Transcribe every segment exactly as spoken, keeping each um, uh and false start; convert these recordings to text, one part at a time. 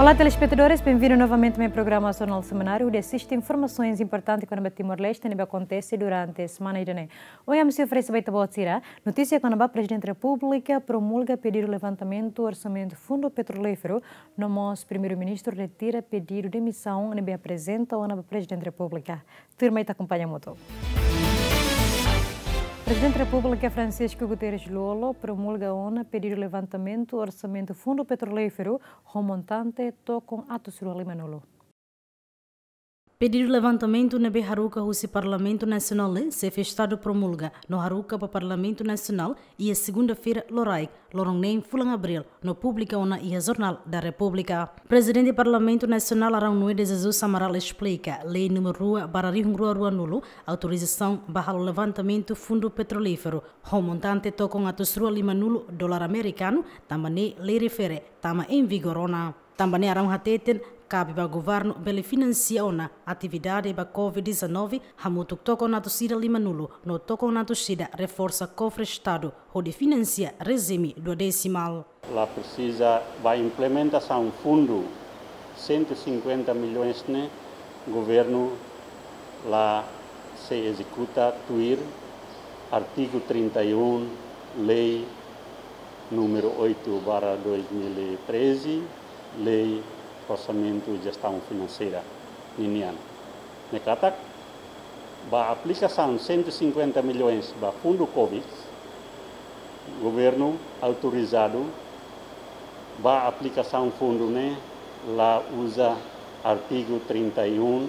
Olá, telespetadores, bem-vindo novamente ao meu programa Jornal Semanário, onde assiste informações importantes kona-ba Timor-Leste ne'ebé akontese durante semana ida-ne'e. Ohin ami sei oferese ba ita-boot sira notísia kona-ba Prezidente Repúblika promulga pedidu levantamentu orsamentu Fundu Petrolíferu, no mós Primeiru-Ministru retira pedidu demisaun ne'ebé aprezenta ona ba Prezidente Repúblika. Tuirmai ita akompaña hamutuk. Prezidente Repúblika Francisco Guterres Lú-Olo promulga ona pedidu levantamentu orsamentu Fundu Petrolíferu ho montante tokon atus rua limanulu. Pedidu levantamentu ne'ebé haruka husi Parlamentu Nasionál ne'e, Xefe Estadu promulga no haruka ba Parlamentu Nasionál iha segunda-feira loraik, loron neen fulan Abríl, no publika ona iha Jornal da Repúblika. Prezidente Parlamentu Nasionál Arão Noé de Jesus Amaral esplika, Lei númeru rua barra rihun rua ruanulu, autorizasaun ba halo levantamentu Fundu Petrolíferu ho montante tokon atus rua limanulu dolar amerikanu, tanba ne'e lei refere tama em vigor ona. Tanba ne'e Arão hateten, kabe ba governu bele finansia ona atividade ba covid dezanove, hamutuk tokon atus ida limanulu, no tokon atus ida reforsa kofre Estadu, hodi finansia rejime duodesimál. La presiza ba implementasaun fundu cento e cinquenta milhões ne'e, governu la sei ezekuta tuir artigu trinta e um, Lei númeru oito barra dois mil e treze, Lei Orsamentu Jestaun Finanseira ninian. Ne'e katak, ba aplikasaun cento e cinquenta milhões ba fundu covid, governu autorizadu ba aplikasaun fundu ne'e la uza artigu trinta e um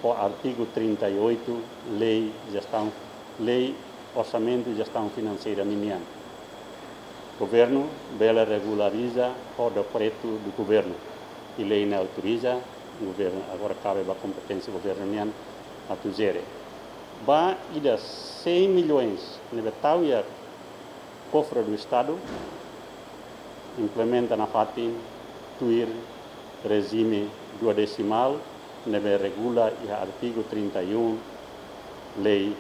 ou artigu trinta e oito, Lei Jestaun, Lei Orsamentu Jestaun Finanseira ninian. Governu bele regulariza ho dekretu do governu. I lei ne'e autoriza, governu agora kabe ba kompeténsia governu nian atu jere. Ba ida cem milhões ne'ebé tau iha kofre do Estadu, implementa nafatin tuir rejime duodesimál ne'ebé regula iha artigu trinta e um, Lei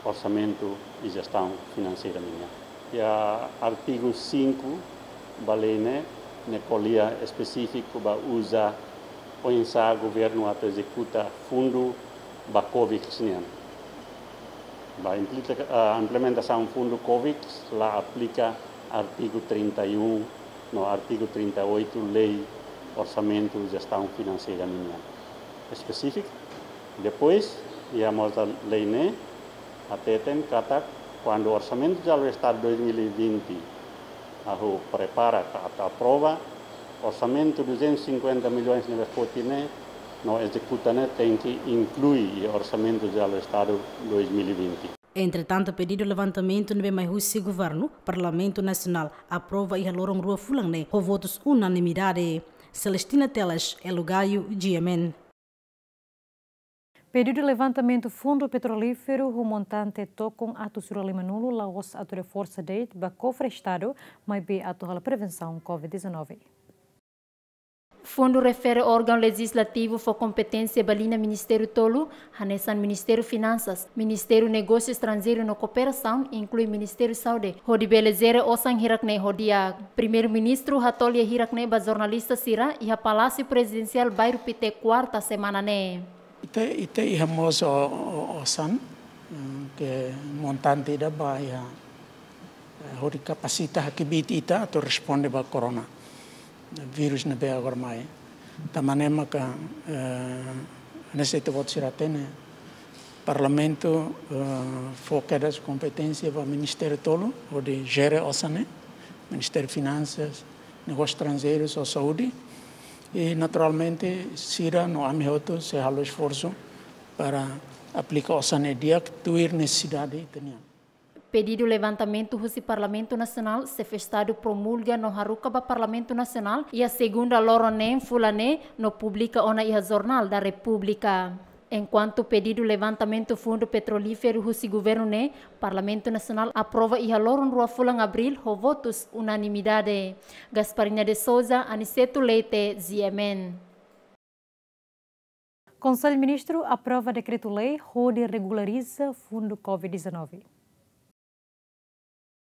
Orsamentu i Jestaun Finanseira ninian. Iha artigu cinco ba lei ne'e, ne'e ko'alia espesífiku ba uza oinsá governu atu ezekuta fundu ba covid nian. Ba implika-, ah, implementasaun fundu covid la aplika artigu trinta e um no artigu trinta e oito Lei Orsamentu Jestaun Finanseira ninian. Espesífiku. Depois, iha mós lei ne'e hateten katak, kuandu Orsamentu Jerál Estadu dois mil e vinte, hahú prepara ka atu aprova, orsamentu duzentos e cinquenta milhões ne'ebé foti ne'e, no ezekuta ne'e tenke inklui iha Orsamentu Jerál Estadu dois mil e vinte. Entretantu, pedidu levantamentu ne'ebé mai husi governu, Parlamentu Nasionál aprova iha loron rua fulan ne'e ho votus unanimidade. Celestina Teles, Elo Gaio, G M N. Pedidu levantamentu Fundu Petrolíferu ho montante tokon atus rua limanulu la'ós atu reforsa de'it ba kofre Estadu, maibé atu halo prevensaun covid dezanove. Fundu refere órgaun lejizlativu fó kompeténsia ba liña ministériu tolu, hanesan Ministériu Finansas, Ministériu Negósiu Estranjeiru no Kooperasaun, inklui Ministériu Saúde, hodi bele jere osan hirak ne'e ho di'ak. Primeiru-Ministru hato'o lia hirak ne'e ba jornalista sira iha Palásiu Prezidensiál Bairru Pité, kuarta semana ne'e. Ita, ita iha mós o, o, osan, eh, ke montante ida ba iha, eh, hodi kapasita hakbiit ita atu responde ba corona virus ne'ebé agora mai. Tanba ne'e maka, eh, hanesan ita-boot sira hatene, Parlamentu, eh, fó kedas kompeténsia ba ministériu tolu, hodi jere osan ne'e, Ministériu Finansas, Negósius Estranjeirus ho Saúde. I naturalmente, sira no ami hotu sei halo esforsu para aplika osan ne'e di'ak tuir nesesidade ita-nian. Pedidu levantamentu husi Parlamentu Nasionál, Xefe Estadu promulga no haruka ba Parlamentu Nasionál, iha segunda loron neen fulan ne'e, no publika ona iha Jornal da Repúblika. Enkuantu pedidu levantamentu Fundu Petrolíferu husi governu ne'e, Parlamentu Nasionál aprova iha loron rua fulan Abríl ho votus unanimidade. Gasparina de Souza, Aniceto Leite, G M N. Konsellu Ministru aprova dekretu-lei hodi regulariza fundu covid dezanove.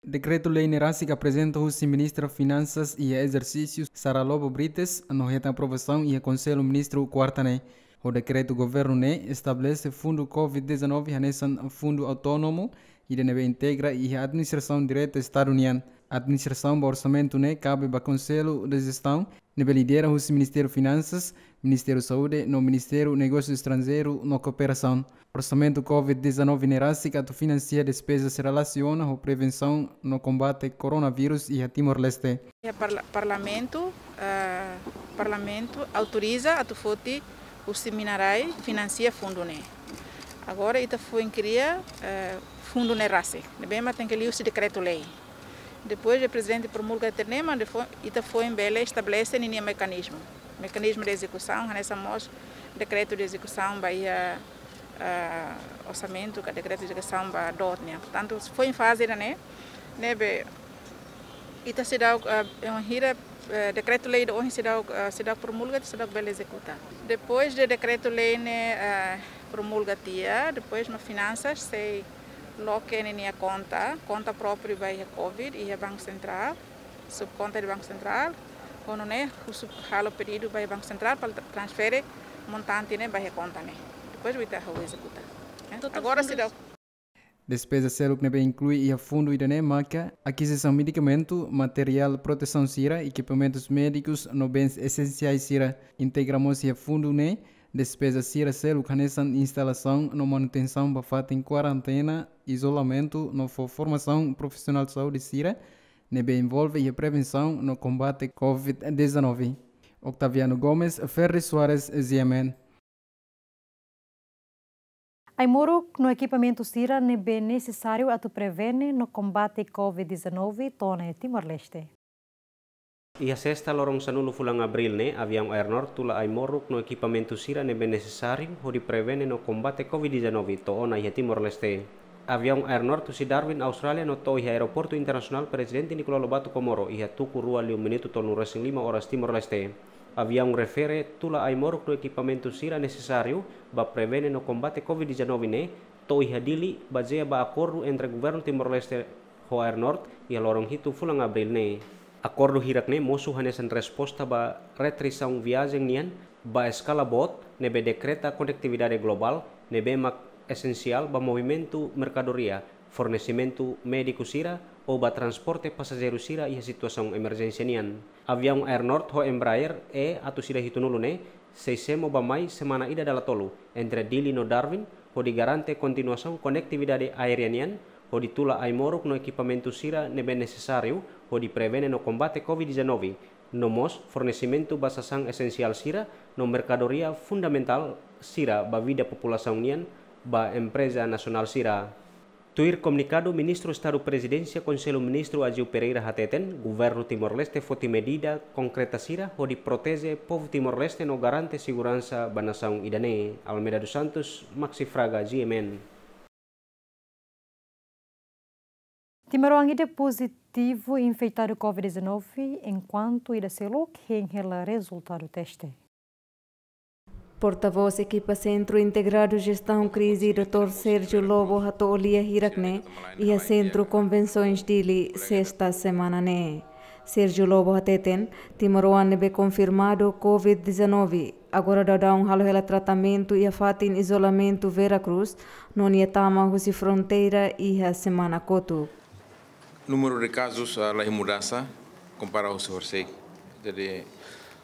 Dekretu-lei ne'e rasik aprezenta husi Ministra Finansas iha ezersísiu, Sara Lobo Brites, no hetan aprovasaun iha Konsellu Ministru kuarta ne'e. Ho dekretu governu ne'e estabelese fundu covid dezanove hanesan fundu autónomu, ida ne'ebé integra iha administrasaun direta Estadu nian. Administrasaun ba orsamentu ne'e kabe ba Konsellu de Jestaun, ne'ebé lidera husi Ministériu Finansas, Ministériu Saúde no Ministériu Negósiu Estranjeiru no Kooperasaun. Orsamentu covid dezanove ne'e rasik atu finansia despezas relasiona ho prevensaun no kombate koronavírus iha Timor-Leste. Iha parla-, parlamentu, eh, parlamentu autoriza atu foti husi mina-rai finansia fundu ne'e. Agora ita foin kria, eh, fundu ne'e rasik. Ne'ebé mak tenke liuhusi dekretu-lei. Depois de prezidente promulga determina, depois ita foin bele estabelese ninia mekanizmu. Mekanizmu de ezekusaun, hanesan mós dekretu de ezekusaun ba iha, ah, orsamentu, ka dekretu de ezekusaun ba DOT nian. Portantu, foin faze ida-ne'e, ne'ebé ita seidauk, ah, eh, hira, eh, dekretu-lei ida ohin seidauk, ah, seidauk promulga, seidauk bele ezekuta. Depois de dekretu-lei ne'e, ah, promulga tiha, depois mak finansas sei loke ninia konta, konta própriu ba iha covid, iha Banku Sentrál, subkonta de Banku Sentrál, ho nune'e husu halo pedidu ba iha Banku Sentrál para transfere montante ne'e ba iha konta ne'e. Depois ita halo ezekuta. Eh, agora fundu seidauk. Despeza seluk ne'ebé inklui iha fundu ida-ne'e maka akizisaun medikamentu, materiál protesaun sira, ekipamentus médikus no bens esensiais sira. Integra mós iha fundu ne'e despeza sira seluk hanesan instalasaun no manutensaun ba fatin kuarentena, izolamentu no fó formasaun profisionál saúde sira ne'ebé envolve iha prevensaun no kombate covid dezanove. Octaviano Gomes, Ferri Soares, G M N. Ai-moruk no ekipamentu sira ne'ebé nesesáriu atu prevene no kombate covid dezanove to'o ona iha Timor-Leste. Iha sesta loron sanulu fulan Abríl ne'e, aviaun Air North tula ai-moruk no ekipamentu sira ne'ebé nesesáriu hodi prevene no kombate covid dezanove to'o ona iha Timor-Leste. Aviaun Air North husi Darwin, Austrália, no to'o iha Aeroportu Internasionál Prezidente Nicolau Lobato Comoro iha tuku rua liu minutu tolunulu-resin-lima oras Timor-Leste. Aviaun refere tula ai-moruk no ekipamentu sira nesesáriu ba prevene no kombate covid dezanove ne'e to'o iha Dili, bazeia ba akordu entre Governu Timor-Leste ho Air North iha loron hitu fulan Abríl ne'e. Akordu hirak ne'e mosu hanesan resposta ba restrisaun viajen nian ba eskala boot ne'ebé dekreta konektividade globál ne'ebé mak esensiál ba movimentu merkadoria, fornesimentu médiku sira ou ba transporte pasajeiru sira iha situasaun emerjénsia nian. Aviaun Air North ho Embraer E atus ida hitunulu ne'e sei semo ba mai semana ida dala tolu entre Dili no Darwin, hodi garante kontinuasaun konektividade aérea nian, hodi tula ai-moruk no ekipamentu sira ne'ebé nesesáriu hodi prevene no kombate covid dezanove, no mós fornesimentu ba sasán esensiál sira no merkadoria fundamentál sira ba vida populasaun nian ba empreza nasionál sira. Tuir komunikadu, Ministru Estadu Prezidénsia Konsellu Ministru Aziu Pereira hateten, Governu Timor-Leste foti medida konkreta sira hodi proteje povu Timor-Leste no garante seguransa ba nasaun ida-ne'e. Almeida dos Santos, Maxi Fraga, G M N. Timoroan ida pozitivu infetadu covid dezanove, enkuantu ida seluk hein hela rezultadu teste. Portavós ekipa Sentru Integradu Jestaun Krize, doutór Sérgio Lobo, hato'o lia hirak ne'e iha Sentru Konvensoens Dili, sesta semana ne'e. Sérgio Lobo hateten, timoroan ne'ebé konfirmadu covid dezanove agora daudaun halo hela tratamentu iha fatin izolamentu Vera Cruz, no nia tama husi fronteira iha semana kotuk. Númeru de kazus, ah, la iha mudansa, kompara husi horisehik. Jadi,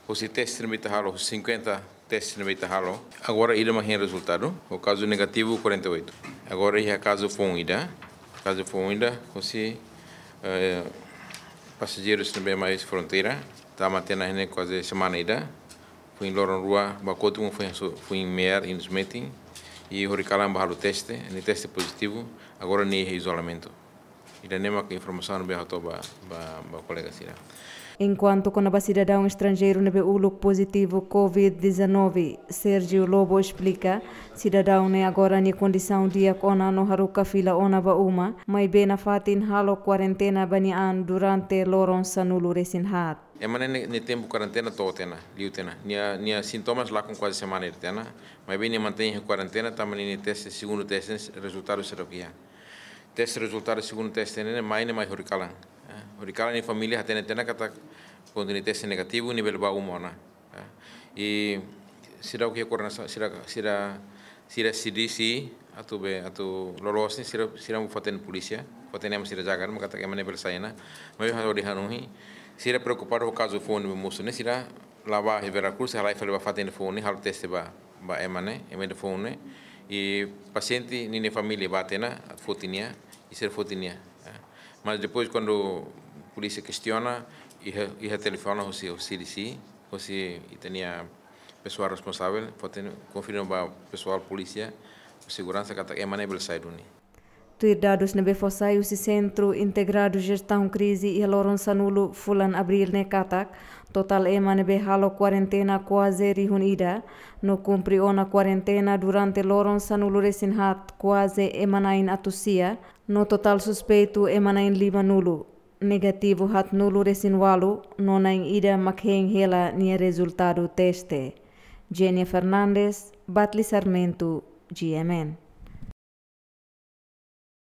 husi teste ne'ebé ita halo, husi cinquenta teste ne'ebé ita halo, agora ida mak hein rezultadu, ho kazu negativu quarenta e oito. Agora iha kazu foun ida, kazu foun ida, husi, eh, pasajeirus ne'ebé mai fronteira, tama tiha ona ne'e kuaze semana ida, foin loron rua ba kotuk foin su-, foin me'ar iha metin, i horikalan ba halo teste, nia teste pozitivu, agora nia iha izolamentu. Ida-ne'e mak informasaun ne'ebé hato'o ba, ba, ba kolega sira. Enkuantu kona-ba sidadaun estranjeiru ne'ebé uluk pozitivu covid dezanove, Sérgio Lobo esplika, sidadaun ne'e agora nia kondisaun di'ak ona no haruka fila ona ba uma, maibé nafatin halo kuarentena ba nia an durante loron sanulu-resin-haat. Ema ne'e nia, nia tempu kuarentena to'o tiha ona, liu tiha ona. Nia, nia sintomas lakon kuaze semana ida tiha ona, maibé nia mantein iha kuarentena, tanba nia teste, segundu teste, rezultadu seidauk iha. Teste, rezultadu segundu teste ne'e mai ne'e mai horikalan. Eh, horikalan nia família hatene tiha ona katak konteúdu teste negativu, ne'e bele ba uma ona. Eh, i sira ke koordenasaun, sira, sira, sira C D C, atu be, atu loloos ne'e, sira, sira fó-hatene polísia, fó-hatene ema sira jaga, mak katak ema ne'e bele sai ona. Maibé ha'u hanoin, sira preokupadu ho kazu foun ne'ebé mosu ne'e, sira la'o ba iha Vera Cruz, halai fali ba fatin foun ne'e, halo teste ba, ba ema ne'e, ema ida foun ne'e. I pasiente ninia família ba tiha ona, atu foti nia, i sira foti nia. Eh, mas depois, kuandu polísia kestiona, iha, iha telefone husi, husi C D C, husi ita-nia pesoál responsavel, fó-hatene, konfirma ba pesoál polísia, seguransa katak ema ne'e bele sai duni. Tuir dadus ne'ebé fó sai husi Sentru Integradu Jestaun Krize iha loron sanulu fulan Abríl ne'e katak, totál ema ne'ebé halo kuarentena kuaze rihun ida, no kumpre ona kuarentena durante loron sanulu resin haat kuaze ema na'in atus sia, no totál suspeitu ema na'in limanulu, negativu haatnulu resin ualu, no na'in ida mak hein hela nia rezultadu teste. Jenny Fernandes, Batli Sarmento, G M N.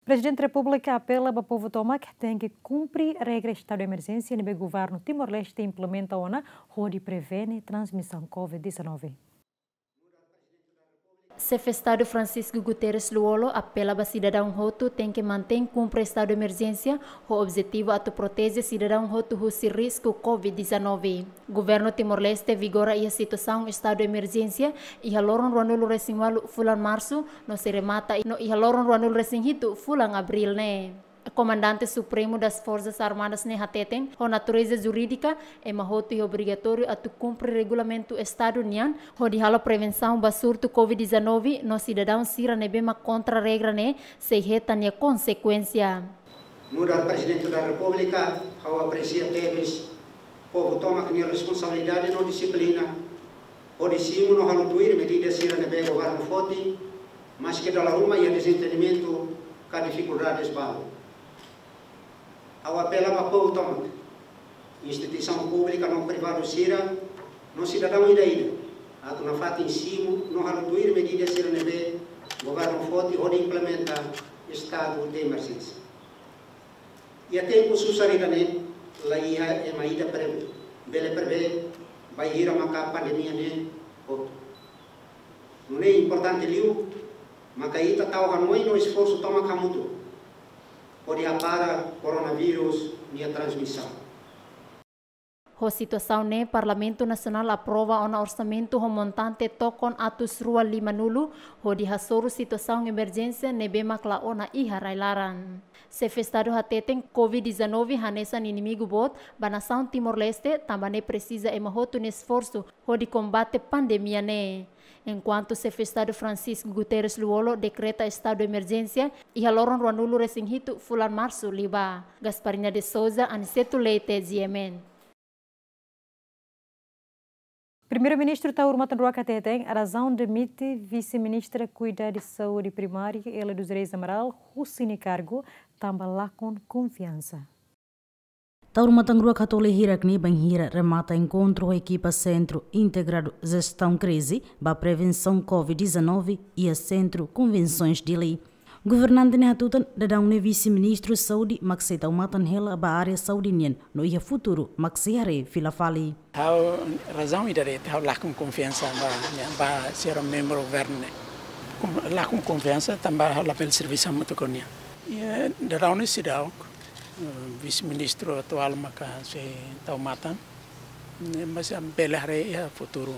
Prezidente Repúblika apela ba povu tomak tenke kumpre regra estadu de emerjénsia ne'ebé governu Timor-Leste implementa ona hodi prevene transmisaun covid dezanove. Xefe Estadu Francisco Guterres Lú-Olo apela ba sidadaun hotu tenke mantein kumpre estadu de emerjénsia ho objetivu atu proteje sidadaun hotu husi risku covid dezanove. Governu Timor-Leste vigora iha situasaun estadu de emerjénsia iha loron ruanulu resin ualu fulan Marsu, no sei remata no iha loron ruanulu resin hitu fulan Abríl ne'e. Komandante Supremu das Forças Armadas ne'e hateten, ho natureza jurídika, ema hotu iha obrigatóriu atu kumpre regulamentu estadu nian, hodi halo prevensaun ba surtu covid dezanove, no sidadaun sira ne'ebé mak kontra regra ne'e sei hetan nia konsekuénsia. Nu'udar Prezidente da Repúblika, ha'u apresia tebes povu tomak nia responsabilidade no dixiplina, hodi simu no halo tuir medida sira ne'ebé governu foti, maske dala ruma iha dezentendimentu ka difikuldades balu. Ha'u apela ba povu tomak, instituisaun públika no privadu sira, no sidadaun ida-ida, atu nafatin simu no halo tuir medida sira ne'ebé governu foti hodi implementa estadu de emerjénsia. Iha tempu susar ida-ne'e, la iha ema ida pre-, bele prevee bainhira maka pandemia ne'e hotu. Nune'e importante liu maka ita tau hanoin no esforsu tomak hamutuk hodi hapara koronavírus nia transmisaun. Ho situasaun ne'e, Parlamentu Nasionál aprova ona orsamentu ho montante tokon atus rua limanulu, hodi hasoru situasaun emerjénsia ne'ebé mak la'o ona iha rai-laran. Xefe Estadu hateten covid dezanove hanesan inimigu boot ba nasaun Timor-Leste, tanba ne'e presiza ema hotu nia esforsu hodi kombate pandemia ne'e. Enkuantu Xefe Estadu Francisco Guterres Lú-Olo dekreta estadu de emerjénsia iha loron ruanulu resin hitu fulan Marsu liubá. Gasparina de Souza, Aniceto Leite, G M N. Primeiru-Ministru Taur Matan Ruak hateten, razaun demite Vise-Ministra Kuidadu Saúde Primária, Elia dos Reis Amaral, husi nia kargu, tanba lakon konfiansa. Taur Matan Ruak hato'o lia hirak-ne'e bainhira remata enkontru ho ekipa Sentru Integradu Jestaun Krize ba Prevensaun covid dezanove iha Sentru Konvensoens Dili. Governante ne'e hatutan, daudaun ne'e Vise-Ministru Saúde mak sei tau matan hela ba área saúde nian, no iha futuru mak sei haree fila fali. Ha'u razaun ida de'it, ha'u lakon konfiansa ba, ba sira membru governu ne'e. Kon-, lakon konfiansa tanba ha'u labele servisu hamutuk ho nia. Iha daudaun ne'e seidauk, eh, Vise-Ministru atuál maka sei tau matan. Ne'e, mas bele haree iha futuru.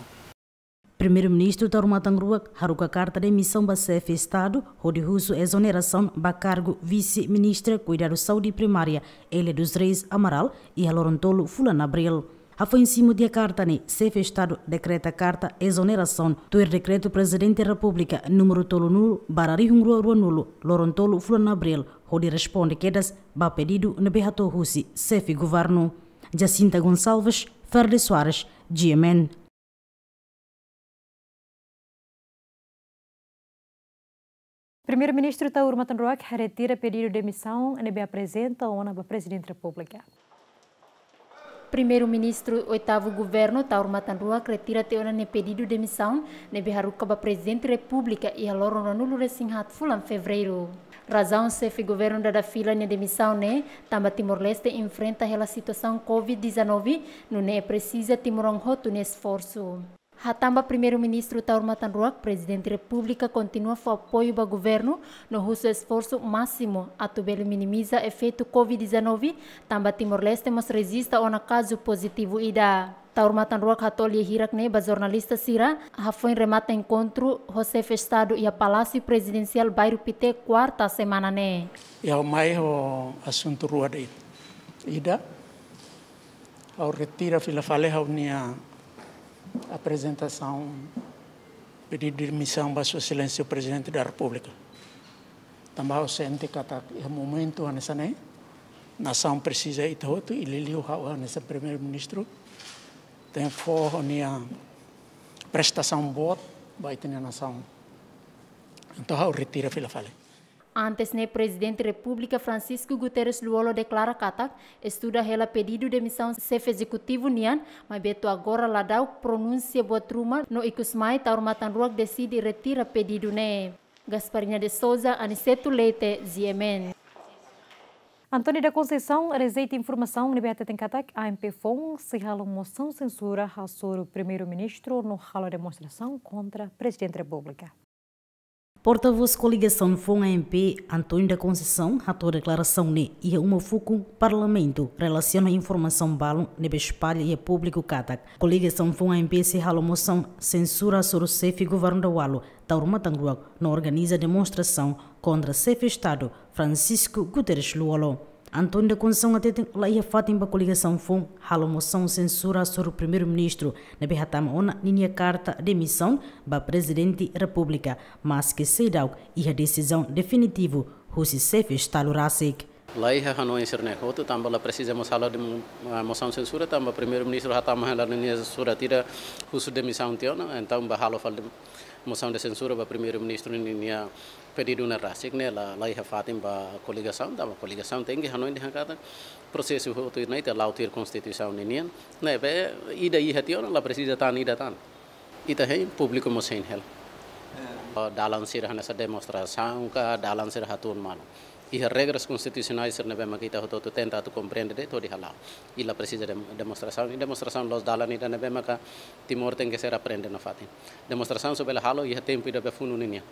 Primeiru-Ministru Taur Matan Ruak haruka karta demisaun ba Xefe Estadu, hodi husu ezonerasaun ba kargu Vise-Ministra Kuidadu Saúde Primária, Elia dos Reis Amaral, iha loron tolu fulan Abríl. Hafoin simu tiha karta ne'e, Xefe Estadu dekreta karta ezonerasaun, tuir Dekretu Prezidente Repúblika númeru tolunulu barra rihun rua ruanulu, loron tolu fulan Abríl, hodi responde kedas ba pedidu ne'ebé hato'o husi Xefe Governu. Jacinta Gonçalves, Ferde Soares, G M N. Primeiru-Ministru Taur Matan Ruak retira pedidu demisaun ne'ebé aprezenta ona ba Prezidente Repúblika. Primeiru-Ministru oitavu Governu, Taur Matan Ruak, retira tiha ona nia pedidu demisaun ne'ebé haruka ba Prezidente Repúblika iha loron ruanulu-resin-haat fulan Fevereiru. Razaun xefe governu dada fila nia demisaun ne'e tanba Timor-Leste enfrenta hela situasaun covid dezanove, nune'e presiza timoroan hotu nia esforsu. Hatán ba Primeiru-Ministru Taur Matan Ruak, Prezidente Repúblika kontinua fó apoiu ba governu no husu esforsu másimu atu bele minimiza efeitu covid dezanove, tanba Timor-Leste mós rejista ona kazu pozitivu ida. Taur Matan Ruak hato'o lia hirak ne'e ba jornalista sira, hafoin remata enkontru ho xefe Estadu iha Palásiu Prezidensiál Bairru Pité, kuarta semana ne'e. Ha'u mai ho asuntu rua de'it. Ida, ha'u retira fila fali ha'u-nia aprezentasaun pedidu demisaun ba Sua Exelénsia Prezidente da Repúblika. Tanba ha'u sente katak iha momentu hanesan ne'e, nasaun presiza ita hotu, i liuliu ha'u hanesan Primeiru-Ministru tenke fó ha'u-nia prestasaun boot ba ita-nia nasaun. Entaun ha'u retira fila fali. Antes ne'e, Prezidente Repúblika Francisco Guterres Lú-Olo deklara katak estuda hela pedidu demisaun xefe ezekutivu nian, maibé to'o agora la da'uk pronúnsia buat ruma no ikus mai Taur Matan Ruak deside retira pedidu ne'e. Gasparina de Souza, Aniceto Leite, G M N. António da Conceição rejeita informasaun ne'ebé hateten katak A M P foun sei halo mosaun sensura hasoru Primeiru-Ministru no halo demonstrasaun kontra Prezidente Repúblika. Portavós koligasaun foun A M P, António da Conceição, hato'o deklarasaun ne'e iha uma fukun Parlamentu relasiona informasaun balun ne'ebé espalla iha públiku katak koligasaun foun A M P sei halo mosaun sensura hasoru xefe governu dawalu, Taur Matan Ruak, no organiza demonstrasaun kontra xefe Estadu, Francisco Guterres Lú-Olo. António da Conceição hateten la iha fatin ba koligasaun foun halo mosaun sensura hasoru Primeiru-Ministru ne'ebé hatama ona ninia karta demisaun ba Prezidente Repúblika, maske seidauk iha desizaun definitivu husi xefe Estadu rasik. La iha hanoin sira-ne'e hotu, tanba la presiza mós halo dem-, ah, mosaun sensura, tanba Primeiru-Ministru hatama hela ninia surat ida husu demisaun tiha ona, entaun ba halo fali dem-, mosaun de sensura ba Primeiru-Ministru ninia pedidu ne'e rasik ne'e la, la iha fatin ba koligasaun, tanba koligasaun tenke hanoin dehan katak prosesu hotu ne'e ita la'o tuir Konstituisaun ninian, ne'ebé ida iha tiha ona la presiza tan ida tan. Ita hein, públiku mós hein hela. Dalan sira hanesan demonstrasaun ka, dalan sira hatún malu. Iha regras konstitusionais sira ne'ebé maka ita hotu-hotu tenta atu komprende de'it hodi hala'o. I la presiza dem-, demonstrasaun, i demonstrasaun la'ós dalan ida ne'ebé maka Timor tenke ser aprende nafatin. Demonstrasaun só bele halo iha tempu ida be funu ninian.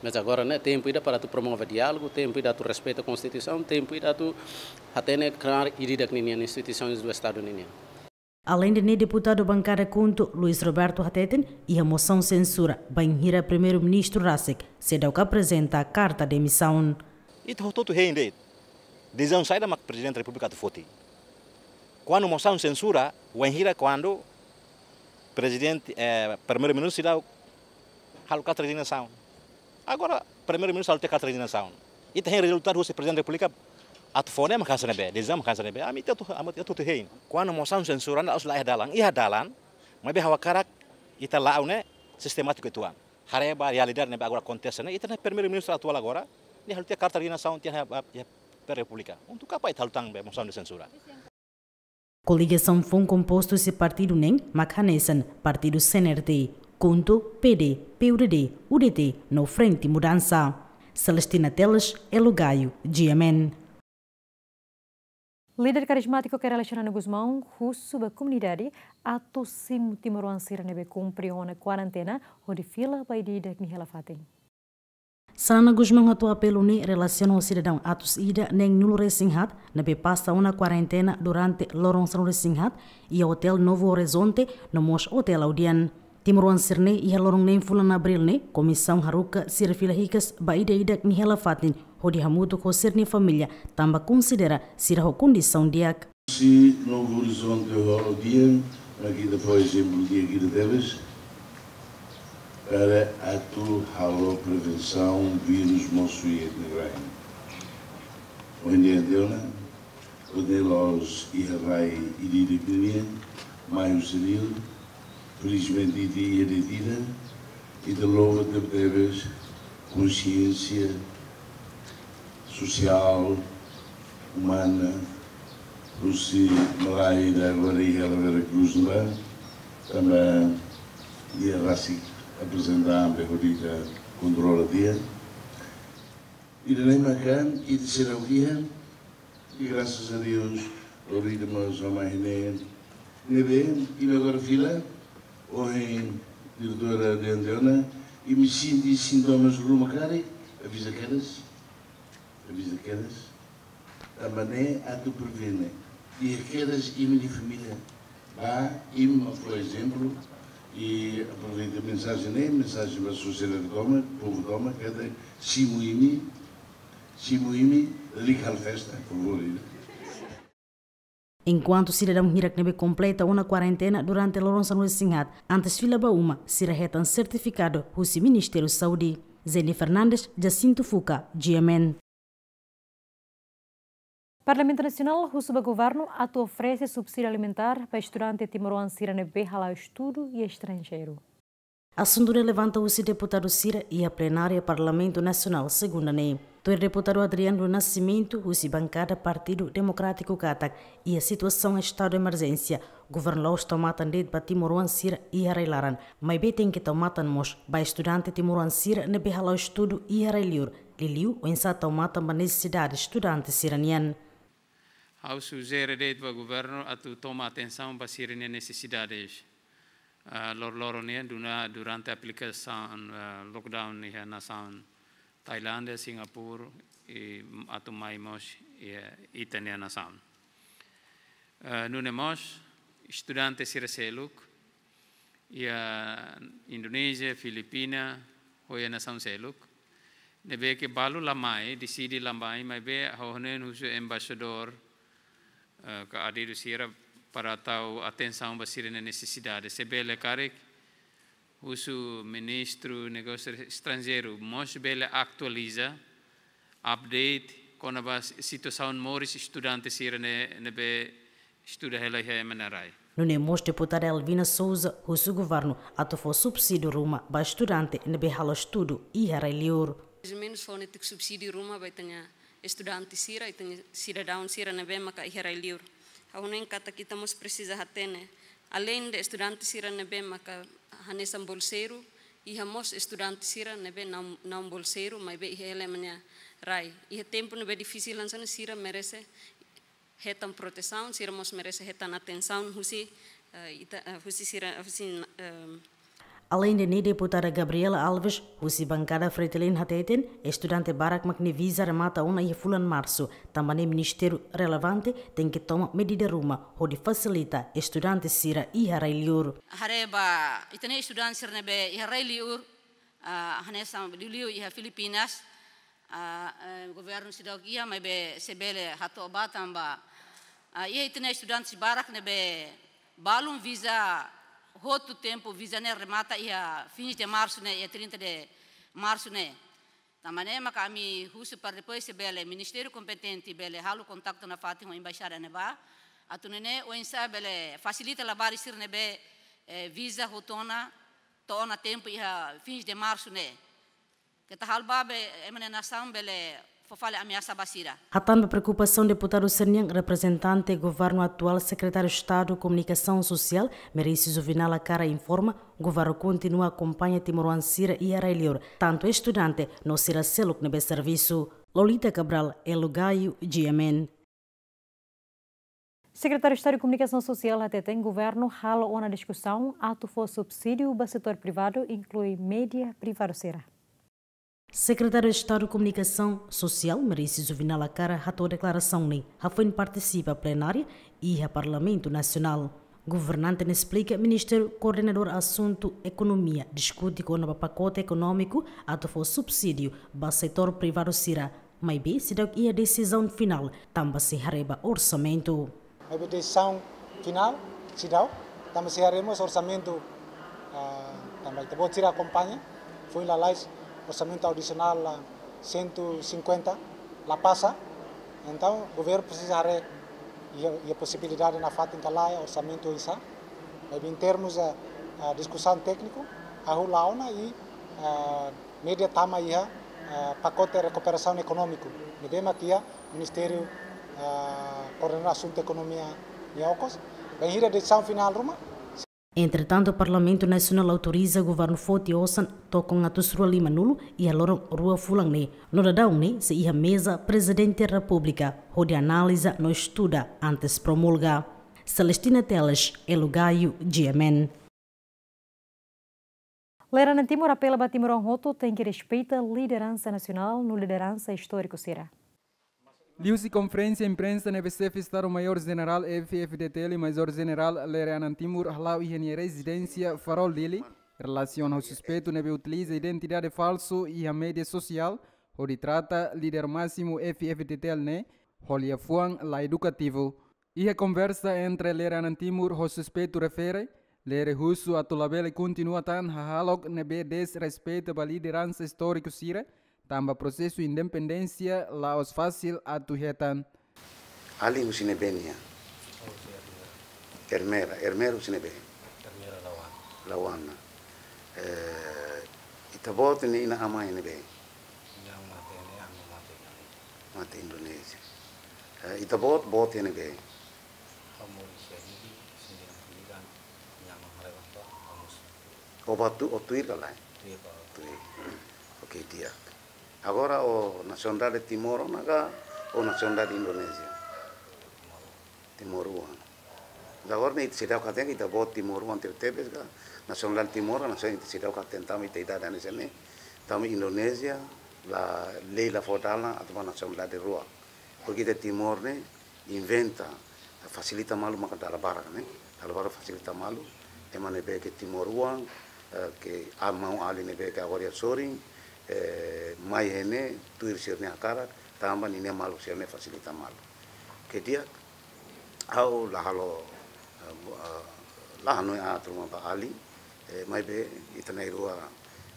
Mas agora ne'e tempu ida para atu promove diálogu, tempu ida atu respeita Konstituisaun, tempu ida atu hatene klaru ida-idak ninian, instituições do Estado ninian. Aleinde ne'e, deputadu bankada KHUNTO, Luis Roberto hateten, iha mosaun sensura bainhira Primeiru-Ministru rasik seidauk aprezenta karta demisaun. Ita hotu-hotu hein de'it. Desizaun saida mak Prezidente Repúblika atu foti. Kuandu mosaun sensura, wainhira kuandu Prezidente, eh, Primeiru-Ministru seidauk halo karta rezignasaun. Agora, Primeiru-Ministru halo tiha karta rezignasaun. Ita hein rezultadu husi Prezidente Repúblika atu fó ne'e mak hanesan ne'ebé, desizaun mak hanesan ne'ebé. Ami ita hotu, ami ita hotu hein. Kuandu mosaun sensura ne'e la'ós la iha dalan, iha dalan, maibé ha'u hakarak ita la'o ne'e sistemátiku uitoan. Haree ba realidade ne'ebé agora akontese ne'e, ita-nia Primeiru-Ministru atuál agora, nia halo tiha karta rezignasaun tiha iha, iha Repúblika. Untuk apa ita halo tan be mosaun de sensura? Koligasaun foun kompostu husi partidu neen mak hanesan partidu C N R T, KHUNTO, P D, P U D D, U D T no Frente Mudança. Celestina Teles, Elo Gaio, G M N. Líder karizmátiku Kay Rala Xanana Gusmão husu ba komunidade atu simu timoroan sira ne'ebé kumpre ona kuarentena hodi fila ba ida-idak nia hela fatin. Xanana Gusmão hato'o apelu ne'e relasiona ho sidadaun atus ida neenulu-resin-haat ne'ebé pasa ona kuarentena durante loron sanulu-resin-haat iha Hotel Novo Horizonte no mós Hotel Audian. Timoroan sira-ne'e iha loron neen fulan Abríl ne'e, komisaun haruka sira fila hikas ba ida-idak nia hela fatin hodi hamutuk ho sira-nia família, tanba konsidera sira ho kondisaun di'ak. Husi Novo Horizonte ho Audian, mak ita fó ezemplu di'ak ida tebes, para atu halo prevensaun vírus mosu iha ita-nia rain. Ohin diante ona, ita-nia la'ós iha rai ida-idak nian, mai husi rai, felizmente ita iha de'it ida, ita louva tebetebes konsiénsia sosiál, umana, Husi malae ida agora iha Vera Cruz ne'ebá, tanba dia rasik aprezenta be hodi ita kontrola tiha. Ida-ne'e maka ita seidauk iha, e graças a Deus, obrigadu mós a mai ne'e. Ne'ebé, imi agora fila, ohin diretora dehan tiha ona, imi sente sintomas ruma karik, aviza kedas, aviza kedas. Tanba ne'e atu prevene. Iha kedas imi-nia família. Ba, imi mak fó ezemplu. I aproveita mensajen ne'e, mensajen ba sosiedade tomak, povu tomak, katak simu imi, simu imi, lalika halo festa, por favór. Enkuantu sidadaun hirak ne'ebé kompleta ona kuarentena durante loron sanulu-resin-haat, antes fila ba uma, sira hetan sertifikadu husi Ministériu Saúde. Jenny Fernandes, Jacinto Fuca, G M N. Parlamentu Nasionál husu ba governu atu oferese subsídiu alimentár ba estudante timoroan sira ne'ebé hala'o estudu iha estranjeiru. Asuntu ne'e levanta husi deputadu sira iha plenária Parlamentu Nasionál, segunda ne'e. Tuir deputadu Adriano do Nascimento, husi bankada Partidu Demokrátiku katak, iha situasaun estadu emerjénsia, governu la'ós tau matan de'it ba timoroan sira iha rai-laran, maibé tenke tau matan mós ba estudante timoroan sira ne'ebé hala'o estudu iha rai-liur, liuliu oinsá tau matan ba nesesidade estudante sira-nian. Ha'u sujere de'it ba governu atu toma atensaun ba sira-nia nesesidades, ah, loroloron nian duna-, durante aplikasaun, ah, lockdown iha nasaun Tailándia, Singapura, i atu mai mós iha ita-nia nasaun. Ah, nune'e mós, estudante sira seluk, iha Indonézia, Filipina, ho iha nasaun seluk. Ne'ebé ke balu la mai, deside la mai, maibé ha'u hanoin husu embaixadór, eh, ka adidu sira para tau atensaun ba sira-nia nesesidade. Se bele karik, husu Ministru Negósiu Estranjeiru, mós bele atualiza, update, kona-ba situasaun moris estudante sira ne'e, ne'ebé estuda hela iha ema nia rai. Nune'e mós deputada Elvina Sousa husu governu atu fó subsídiu ruma ba estudante ne'ebé halo estudu iha rai-liur. Mais ou menos fó netik subsídiu ruma ba ita-nia estudante sira, ita-nia sidadaun sira ne'ebé maka iha rai-liur. Ha'u hanoin katak ita mós presiza hatene. Além de estudante sira ne'ebé maka hanesan bolseiru, iha mós estudante sira ne'ebé não, não bolseiru, maibé iha hela ema nia rai. Iha tempu ne'ebé difisil hanesan ne'e sira merese hetan protesaun, sira mós merese hetan atensaun husi, eh, ita, eh, husi sira, husi, eh, Além de ne'e, deputada Gabriela Alves, husi bankada Fretilin hateten, estudante barak mak nia viza remata ona iha fulan Marsu, tanba ne'e ministériu relevante tenke toma medida ruma hodi fasilita estudante sira iha rai-liur. Haree ba ita-nia estudante sira ne'ebé iha rai-liur, ah, hanesan liuliu iha Filipinas, ah, eh, governu seidauk iha, maibé se bele hato'o ba tanba, ah, iha ita-nia estudante barak ne'ebé balun viza hotu tempu, viza ne'e remata iha fins de Marsu ne'e, iha trinta de Marsu ne'e. Tanba ne'e maka ami husu para depois se bele ministériu kompetente bele halo kontaktu nafatin ho embaixada ne'ebá, atu nune'e oinsá bele fasilita labarik sira ne'ebé, eh, viza hotu ona to'o ona tempu iha fins de Marsu ne'e. Keta halo ba be ema nia nasaun bele fó fali ameasa ba sira. Hatán ba preokupasaun deputadu sira-nian, reprezentante governu atuál, Sekretáriu Estadu Komunikasaun Sosiál, Merici Juvenal Acara informa, governu kontinua akompaña timoroan sira iha rai-liur, tantu estudante no sira seluk ne'ebé servisu. Lolita Cabral, Elo Gaio, G M N. Sekretáriu Estadu Komunikasaun Sosiál hateten governu halo ona diskusaun atu fó subsídiu ba setór privadu, inklui média privadu sira. Sekretáriu Estadu Komunikasaun Sosiál, Merici Juvenal Acara, hato'o deklarasaun ne'e hafoin partisipa plenária iha Parlamentu Nasionál. Governante ne'e esplika ministru koordenadór asuntu ekonomia diskute kona-ba pakote ekonómiku atu fó subsídiu ba setór privadu sira, maibé seidauk iha desizaun finál, tanba sei haree ba orsamentu. Maibé desizaun finál seidauk, tanba sei haree mós orsamentu, ah, tanba ita-boot sira akompaña, foin lalais orsamentu adisionál la cento e cinquenta la pasa. Entaun, governu presiza haree iha, iha posibilidade nafatin ka lae, orsamentu oinsá. Maibé em termos, ah, ah, diskusaun tékniku, hahú la'o ona i, ah, média tama iha, ah, pakote rekuperasaun ekonómiku ne'ebé mak iha Ministériu Koordena asuntu ekonomia nia okos. Bainhira desizaun finál ruma. Entretantu, Parlamentu Nasionál autoriza governu foti osan tokon atus rua lima nulu iha loron rua fulan ne'e, no daudaun ne'e sei iha meza Prezidente Repúblika hodi analiza no estuda antes promulga. Celestina Teles, Elo Gaio, G M N. Lera-na'in Timor apela ba timoroan hotu tenke respeita lideransa nasionál no lideransa istóriku sira. Liuhusi konferénsia imprensa ne'ebé Xefe Estadu Maiór Jenerál F-FDTL Maizór Jenerál Lere-Anan Timur hala'o iha nia rezidénsia Farol Dili, relasiona ho suspeitu ne'ebé utiliza identidade falsu iha média sosiál hodi trata líder másimu F-FDTL ne'e ho liafuan la edukativu. Iha konversa entre Lere-Anan Timur ho suspeitu refere, Lere husu atu labele kontinua tan hahalok ne'ebé desrespeita ba lideransa istóriku sira, tanba prosesu independénsia la'ós fasil atu hetan. Alin husi ne'ebé nia? Ermera, Ermera husi ne'ebé? Ermera Lauana. Lauana. Eh, ita-boot nia inan-aman iha ne'ebé? Inan mate ne'e, aman mate iha ne'e. Mate Indonézia. Eh, ita-boot, boot iha ne'ebé? Ha'u moris iha Dili, sembilan puluh sembilan, inan-aman haree ba, ha'u moris. O ba tu, o tuir ka lae? Tuir ba. Tuir. Oke, di'ak. Agora o nasionalidade Timor ona ka, o nasionalidade Indonézia? Timor. Timoroan. Agora ne'e ita seidauk hatene ita-boot timoroan tebetebes ka, nasionalidade Timor, nasional ita seidauk hatene tanba ita idade hanesan ne'e. Tanba Indonézia la, lei la fó dalan atu ba nasionalidade rua. Porque ita Timor ne'e inventa, fasilita malu maka dala barak ne'e. Dala barak fasilita malu. Ema ne'ebé ke timoroan, eh, ke maun-alin ne'ebé ke agora iha sorin, eh, mai iha ne'e tuir sira-nia hakarak, tanba ninia maluk sira-ne'e fasilita malu. Ke di'ak, ha'u la halo, eh, bu-, eh, la hanoin aat ruma ba alin, eh, maibé ita na'in-rua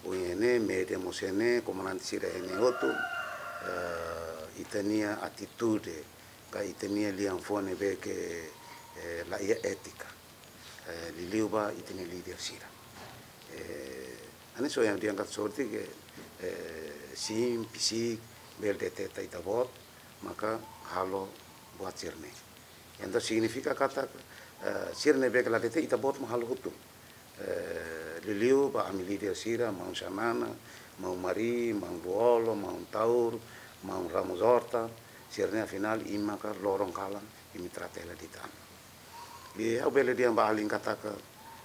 ohin iha ne'e, média mós iha ne'e, komandante sira iha ne'e hotu, eh, ita-nia atitude, ka ita-nia liafuan ne'ebé ke, eh, la iha étika. Eh, liuliu ba ita-nia líder sira. Eh, hanesan ohin ha'u dehan katak sorte ke, eh, sim, psík, bele deteta ita-boot, maka halo buat sira-ne'e. Entaun signifika katak, eh, sira ne'ebé ke la deteta ita-boot mak halo hotu. Eh, liuliu ba ami líder sira, maun Xanana, maun Mari, maun Lú-Olo, maun Taur, maun Ramos Horta, sira-ne'e afinál imi maka loron kalan, imi trata hela de'it ami. I ha'u bele dehan ba alin katak,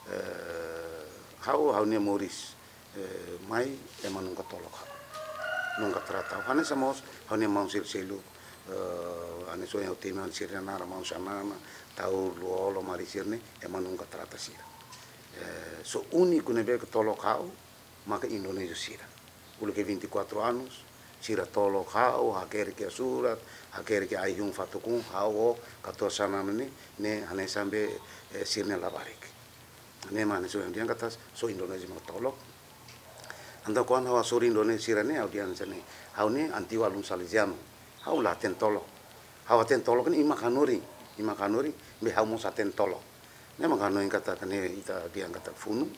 eh, ha'u, ha'u-nia moris, eh, mai ema nunka tolok ha'u. Nunka trata ha'u. Hanesan mós, ha'u-nia maun sira seluk, eh, hanesan ohin ha'u temi sira-nia naran maun Xanana, Taur, Lú-Olo, Mari sira-ne'e, ema nunka trata sira. Eh, só úniku ne'ebé ke tolok ha'u, maka Indonézia sira. Uluk ke vinte e quatro anos, sira tolok ha'u, hakerek iha surat, hakerek iha ai-hun fatuk-un, ha'u ho katuas Xanana ne'e, ne'e hanesan be, eh, sira-nia labarik. Ne'e mak hanesan ohin ha'u dehan katak, só Indonézia mak tolok. Entaun kuandu ha'u hasoru Indonézia sira-ne'e, ha'u dehan hanesan ne'e, ha'u ne'e antigu alun Salezianu, ha'u la hatene tolok. Ha'u hatene tolok ne'e imi mak hanorin, imi mak hanorin, maibé ha'u mós hatene tolok. Ne'e mak hanoin katak ne'e ita dehan katak funu,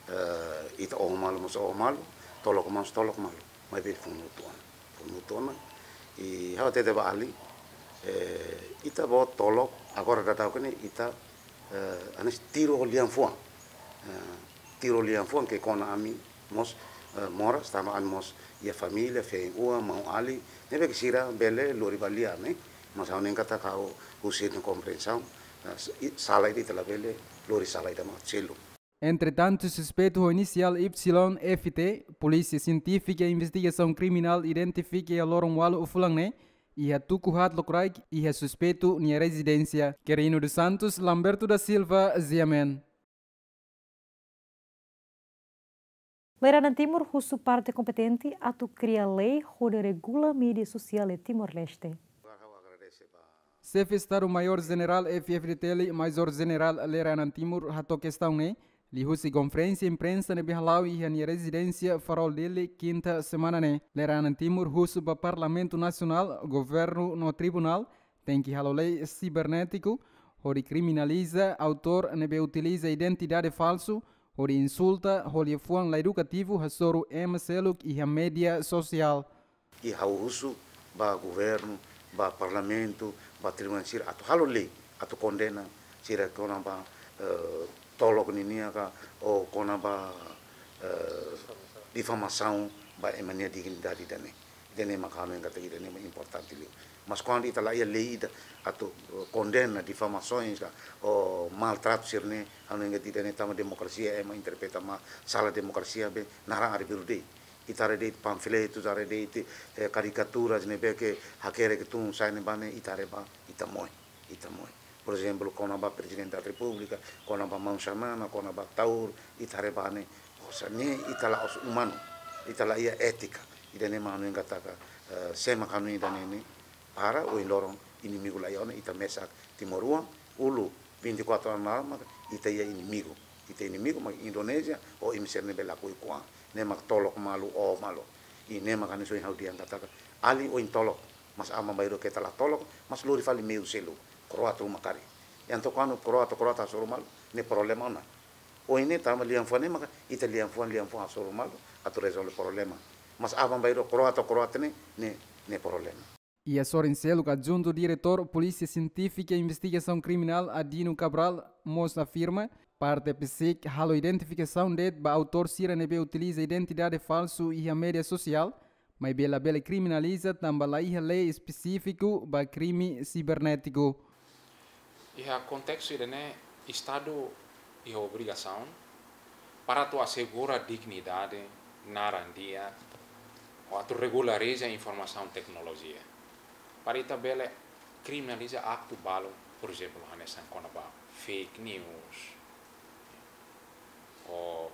eh, ita oho malu mós oho malu, tolok mós tolok malu, maibé funu hotu ona. Funu hotu ona, i ha'u hatete ba alin, eh, ita-boot tolok, agora daudaun ne'e ita, eh, hanesan tiru ho lian-fuan. Eh, tiru ho lian-fuan ke kona ami mós, eh, moras, tanba ami mós iha família, feen-oan, maun-alin, ne'ebé ke sira bele lori ba lia ne'e, mas ha'u hanoin katak ha'u husi nia komprensaun, eh, s-, i-, sala ida ita labele lori sala ida mak selu. Entretantu, suspeitu ho inisiál Y F T, Polísia Sientífika Investigasaun Kriminál identifika iha loron ualu fulan ne'e, iha tuku haat lokraik, iha suspeitu nia rezidénsia. Querino dos Santos, Lamberto da Silva, G M N. Lere-Anan Timur husu parte kompetente atu kria lei hodi regula média sosiál iha Timor-Leste. Xefe Estadu Maiór Jenerál F-FDTL, Maizór Jenerál Lere-Anan Timur hato'o kestaun ne'e liuhusi konferénsia imprensa ne'ebé hala'o iha nia rezidénsia Farol Dili, kinta semana ne'e. Lere-Anan Timur husu ba Parlamentu Nasionál, governu no tribunál tenke halo lei sibernétiku hodi kriminaliza autór ne'ebé utiliza identidade falsu hodi insulta ho liafuan la edukativu hasoru ema seluk iha média sosiál. I ha'u husu ba governu, ba parlamentu, ba tribunál sira atu halo lei, atu kondena sira kona-ba, eh, tolok ninia ka, ou kona-ba, eh, difamasaun ba ema nia dignidade ida-ne'e. Ida-ne'e mak ha'u hanoin katak ida-ne'e mak importante liu. Mas kuandu ita la iha lei ida atu, eh, kondena difamasoens ka, ou maltratu sira-ne'e, ha'u hanoin katak ida-ne'e tanba demokrasia ema interpreta malu, sala demokrasia be naran arbiru de'it. Ita haree de'it panfletu, ita haree de'it, eh, karikaturas ne'ebé ke hakerek tun sai ne'ebá ne'e, ita haree ba, ita moe, ita moe. Por ezemplu, kona-ba Prezidente da Repúblika, kona-ba maun Xanana, kona-ba Taur, ita haree ba ne'e, osan ne'e ita la'ós umanu, ita la iha étika. Ida-ne'e mak ha'u hanoin katak, eh, sé mak hanoin ida-ne'e ne'e, para ohin loron inimigu la iha ona, ita mesak timoroan, uluk vinte e quatro anos mak ita iha inimigu. Ita inimigu mak Indonézia, ou ema sira ne'ebé lakohi kuan. Ne'e mak tolok malu, oho malu. I ne'e mak hanesan ohin ha'u dehan katak, alin ohin tolok, mas aban-bainrua keta la tolok, mas lori fali meiu seluk, kro'at ruma karik. Entaun kuandu kro'at, kro'at hasoru malu, ne'e problema ona. Ohin ne'e tanba liafuan ne'e maka ita liafuan, liafuan hasoru malu atu rezolve problema. Mas aban-bainrua kro'at, kro'at ne'e, ne'e, ne'e problema. Iha sorin seluk, Adjuntu Diretór Polísia Sientífika i Investigasaun Kriminál Adino Cabral mós afirma, parte PCIC halo identifikasaun de'it ba autór sira ne'ebé utiliza identidade falsu iha média sosiál, maibé labele kriminaliza tanba la iha lei espesífiku ba krime sibernétiku. Iha kontestu ida-ne'e, Estadu iha obrigasaun para atu asegura dignidade, naran di'ak, ou atu regulariza informasaun teknolojia. Para ita bele kriminaliza aktu balu, por ezemplu, hanesan kona-ba fake news, ou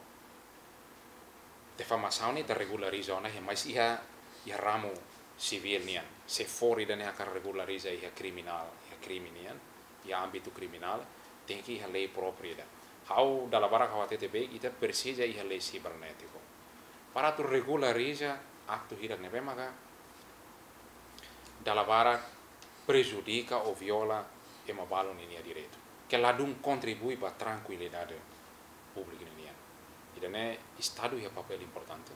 difamasaun ne'e ita regulariza ona, mas iha, iha ramu sivíl nian. Se for ida-ne'e hakarak regulariza iha kriminál, iha krime nian, iha ámbitu kriminál, tenke iha lei própriu ida. Ha'u dala barak ha'u hatete be, ita presiza iha lei sibernétiku. Para atu regulariza aktu hirak ne'ebé maka dala barak prejudika ou viola ema balu ninia direitu, ke ladún kontribui ba trankuilidade públiku ninian. Ida-ne'e Estadu iha papél importante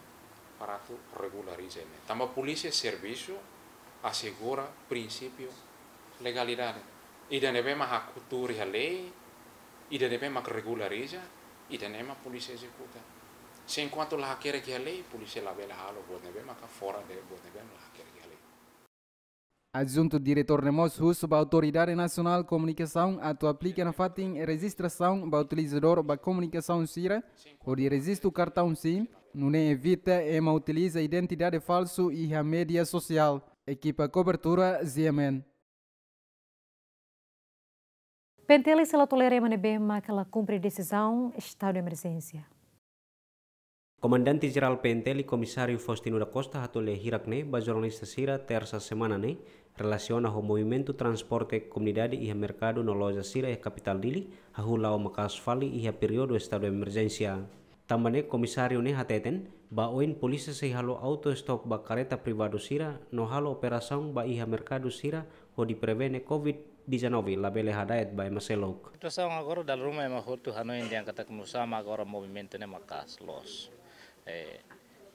para atu regulariza ne'e. Tanba polísia servisu asegura prinsípiu legalidade. Ida ne'ebé mak haktuur iha lei, ida ne'ebé mak regulariza, ida-ne'e mak polísia ezekuta. Se enkuantu la hakerek iha lei, polísia labele halo buat ne'ebé maka fora de buat ne'ebé la hakerek iha lei. Adjuntu Diretór ne'e mós husu ba Autoridade Nasionál Komunikasaun atu aplika nafatin rejistrasaun ba utilizadór ba komunikasaun sira, hodi rejistu kartaun SIM, nune'e evita ema utiliza identidade falsu iha média sosiál. Ekipa kobertura, G M N. P N T L sela tolera ema ne'ebé maka la kumpre desizaun estadu de emerjénsia. Komandante Jerál P N T L, Komisáriu Faustino da Costa, hato'o lia hirak ne'e ba jornalista sira, Tersa semana ne'e, relasiona ho movimentu transporte komunidade iha merkadu no loja sira iha kapitál Dili, hahú la'o maka'as fali iha períodu estadu emerjénsia. Tanba ne'e, Komisáriu ne'e hateten, ba oin polísia sei halo auto stop ba kareta privadu sira, no halo operasaun ba iha merkadu sira, hodi prevene covid dezanove labele hada'et ba ema seluk. Situasaun agora dala ruma ema hotu hanoin dehan katak nu'usá mak agora movimentu ne'e maka'as loos. Eh,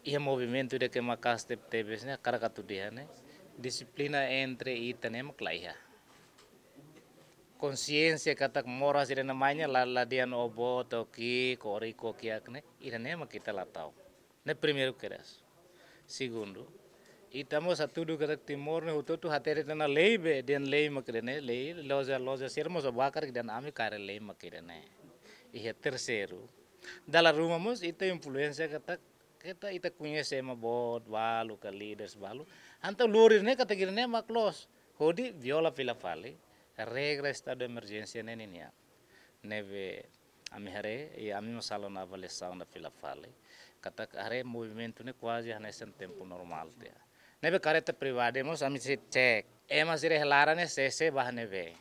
iha movimentu ida ke maka'as teb-, tebes ne'e, hakarak atu dehan ne'e, dixiplina entre ita ne'e mak la iha. Konxiénsia katak moras ida-ne'e mai ne'e la, la dehan ó boot ó ki'ik, ó riku ó kiak ne'e, ida-ne'e mak ita la ta'uk. Ne'e primeiru kedas. Segundu, ita mós hatudu katak Timor ne'e hotu-hotu hatene tiha ona lei be, dehan lei mak ida-ne'e, lei, loja, loja sira mós ó bakar dehan ami kaer lei mak ida-ne'e. Iha terseiru, dala ruma mós ita influénsia katak, katak ita koñese ema boot balu ka líderes balu. Entaun lori ne'e katak ida-ne'e mak loos. Hodi viola fila fali regra estadu de emerjénsia ne'e ninian. Ne'ebé ami haree, i ami mós halo ona avaliasaun ida fila fali. Katak haree movimentu ne'e kuaze hanesan tempu normál tiha. Ne'ebé kareta privadu mós ami sei cek. Ema sira iha laran ne'e sé-sé ba ne'ebé.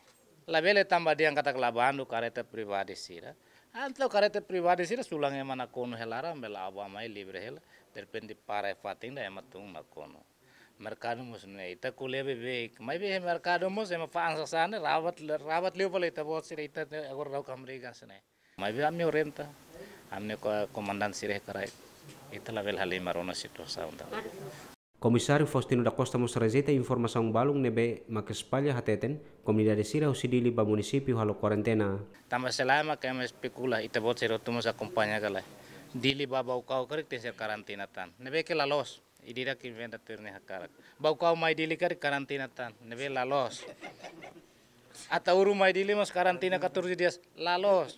Labele tanba dehan katak la bandu kareta privadu sira. Entaun kareta privadu sira sulan ema nakonu iha laran, bele aban mai livre hela. Derrepente para iha fatin ida ema tun nakonu. Merkadu mós ne'e, ita ko'alia beibeik. Maibé merkadu mós ema fa'an sasán ne'e, rabat, rabat liu fali ita-boot sira, ita agora daudaun hamriik hanesan ne'e. Maibé ami orienta, ami-nia ko-, komandante sira hakarak, ita labele halimar ona situasaun ida. Komisáriu Faustino da Costa mós rejeita informasaun balun ne'ebé mak espalla hateten komunidade sira husi Dili ba munisípiu halo kuarentena. Tanba selae mak ema espekula, ita-boot sira hotu mós akompaña ka lae. Dili ba Baucau karik tenke ser karantina tan. Ne'ebé ke la loos, ida-idak inventa tuir nia hakarak. Baucau mai Dili karik karantina tan. Ne'ebé la loos. Ataúru mai Dili mós karantina catorze dias, la loos.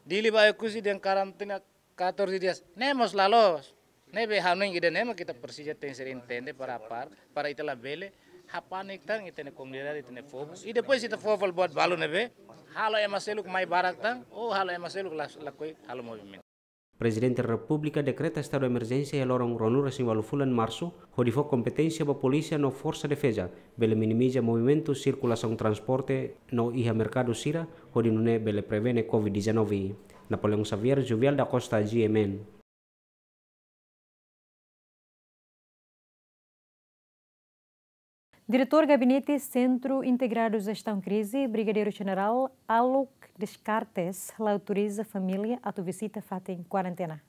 Dili ba Oekusi dehan karantina catorze dias, ne'e mós la loos. Ne'ebé hanoin ida-ne'e mak ita presiza tenke ser entende para par, para ita labele hapanik tan ita-nia komunidade, ita-nia povu. I depois ita fó fali buat balu ne'ebé halo ema seluk mai barak tan, ou halo ema seluk la-, lakohi halo movimentu. Prezidente Repúblika dekreta estadu emerjénsia iha loron ruanulu-resin-ualu fulan Marsu, hodi fó kompeténsia ba polísia no Forsa Defeza, bele minimiza movimentu sirkulasaun transporte no iha merkadu sira, hodi nune'e bele prevene covid dezanove. Napoleão Xavier, Juvial da Costa, G M N. Diretór Gabinete Sentru Integradu Jestaun Krize, Brigadeiru Jenerál Alok Descartes, la autoriza família atu vizita fatin kuarentena.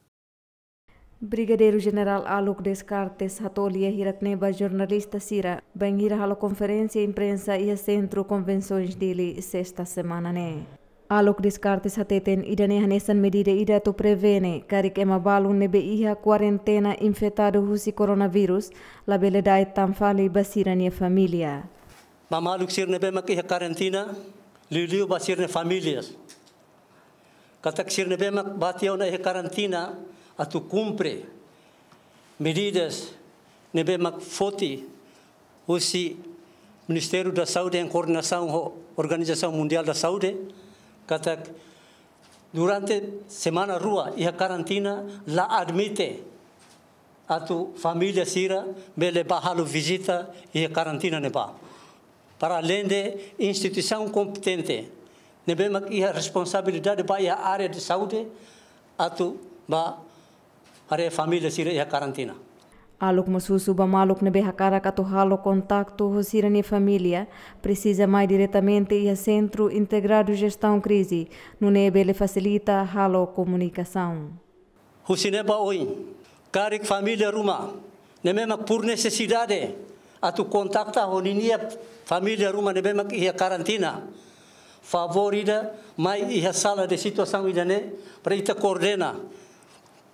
Brigadeiru Jenerál Alok Descartes hato'o lia hirak-ne'e ba jornalista sira, bainhira halo konferénsia imprensa iha Sentru Konvensoens Dili, sesta semana ne'e. Alok Descartes hateten ida-ne'e hanesan medida ida atu prevene karik ema balun ne'ebé iha kuarentena infetadu husi koronavírus, labele da'et tan fali ba sira-nia família. Ba maluk sira ne'ebé mak iha karantina, liuliu ba sira-nia famílias. Katak sira ne'ebé mak bá tiha ona iha karantina atu kumpre medidas ne'ebé mak foti husi Ministériu da Saúde em coordenação ho Organizasaun Mundiál da Saúde, katak durante semana rua iha karantina la admite atu família sira bele bá halo vizita iha karantina ne'ebá. Para além de instituisaun kompetente ne'ebé mak iha responsabilidade ba iha área de saúde atu bá haree família sira iha karantina. Alok mós husu ba maluk ne'ebé hakarak atu halo kontaktu ho sira-nia família, presiza mai diretamente iha Sentru Integradu Jestaun Krize, nune'e bele fasilita halo komunikasaun. Husi ne'e ba oin, karik família ruma ne'ebé mak por nesesidade atu kontakta ho ninia família ruma ne'ebé mak iha karantina, favór ida mai iha sala de situasaun ida-ne'e para ita koordena,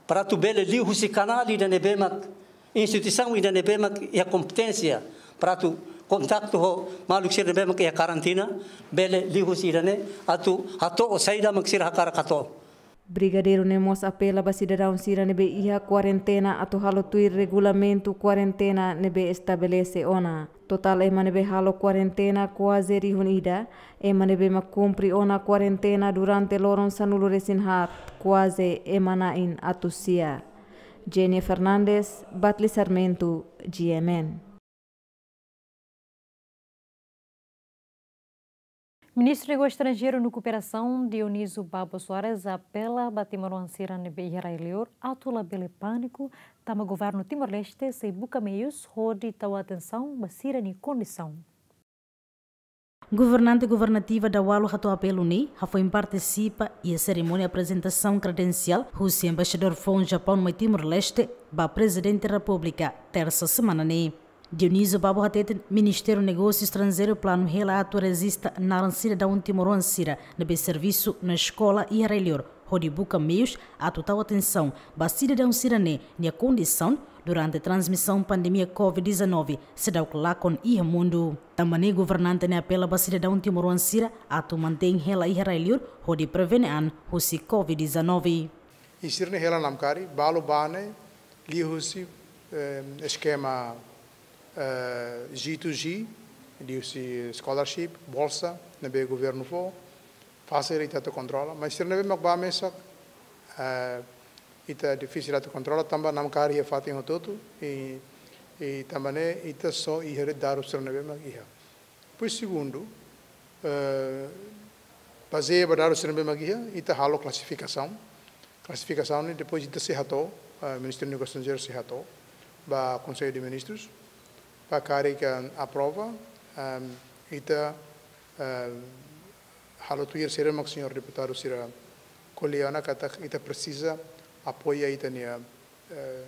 para atu bele liuhusi kanál ida ne'ebé mak, instituisaun ida ne'ebé mak iha kompeténsia para atu kontaktu ho maluk sira ne'ebé mak iha karantina, bele liuhusi ida-ne'e atu hato'o saida mak sira hakarak hato'o. Brigadeiru ne'e mós apela ba sidadaun sira ne'ebé iha kuarentena atu halo tuir regulamentu kuarentena ne'ebé estabelese ona. Totál ema ne'ebé halo kuarentena kuaze rihun ida, ema ne'ebé mak kumpre ona kuarentena durante loron sanulu-resin-haat, kuaze ema na'in atus sia. Jenny Fernandes, Batli Sarmento, G M N. Ministru Negósiu Estranjeiru no Kooperasaun, Dionísio Babo Soares, apela ba timoroan sira ne'ebé iha rai-liur atu labele pániku, tanba governu Timor-Leste sei buka meius hodi tau atensaun ba sira-nia kondisaun. Governante governativa daualu hato'o apelu ne'e hafoin partisipa iha serimónia aprezentasaun kredensiál husi Embaixadór foun Japaun mai Timor-Leste ba Prezidente Repúblika, tersa semana ne'e. Dionísio Babo hateten Ministériu Negósiu Estranjeiru planu hela atu rejista naran sidadaun timoroan sira ne'ebé servisu no eskola iha rai-liur, hodi buka meius atu tau atensaun ba sidadaun sira-ne'e nia kondisaun durante transmisaun pandemia covid dezanove seidauk lakon iha mundu. Tanba ne'e governante ne'e apela ba sidadaun timoroan sira atu mantein hela iha rai-liur hodi prevene an husi covid dezanove. I sira-ne'e hela namkari, balu bá ne'e liuhusi, eh, eskema, eh, G to G, liuhusi scholarship, bolsa, ne'ebé governu fó, fasil ita atu kontrola, mas sira ne'ebé mak bá mesak, eh, ita difisil atu kontrola, tanba namkari iha fatin hotu-hotu, i, i tanba ne'e ita só iha dadus sira ne'ebé mak iha. Depois segundu, eh, bazeia ba dadus sira ne'ebé mak iha, ita halo klasifikasaun. Klasifikasaun ne'e depois ita sei hato'o, eh, Ministériu Negósiu Estranjeiru sei hato'o ba Konsellu de Ministrus, ba karik aprova, em, ita, em, halo tuir sira mak señór deputadu sira ko'alia ona katak ita presiza apoia ita-nia, eh,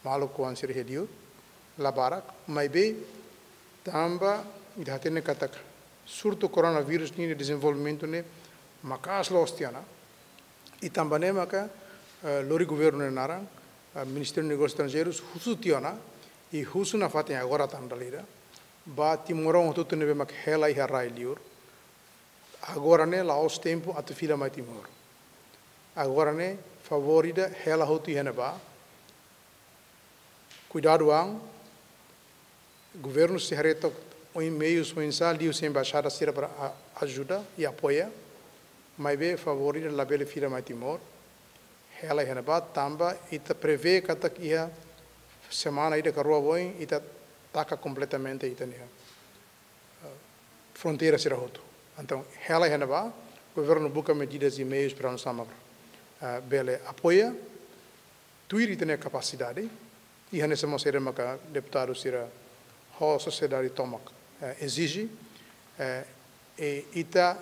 maluk oan sira iha liur. La barak, maibé tanba ita hatene katak surtu koronavírus nian dezenvolvimentu ne'e maka'as loos tiha ona. I tanba ne'e maka, eh, lori governu nia naran, eh, Ministériu Negósius Estranjeirus husu tiha ona, i husu nafatin agora tan dala ida ba timoroan hotu-hotu ne'ebé mak hela iha rai liur. Agora ne'e la'ós tempu atu fila mai Timor. Agora ne'e favór ida hela hotu iha ne'ebá. Kuidadu an, governu sei haree took oinsá meius, oinsá liuhusi embaixada sira para a-, ajuda i apoia, maibé favór ida labele fila mai Timor. Hela iha ne'ebá tanba ita prevee katak iha semana ida ka rua ba oin ita taka kompletamente ita-nia, eh, fronteira sira hotu. Entaun, hela iha ne'ebá, governu buka medidas i meius para nu'usá mak, eh, bele apoia, tuir ita-nia kapasidade, i hanesan mós saida maka deputadu sira ho sosiedade tomak, eh, ezije, eh, i ita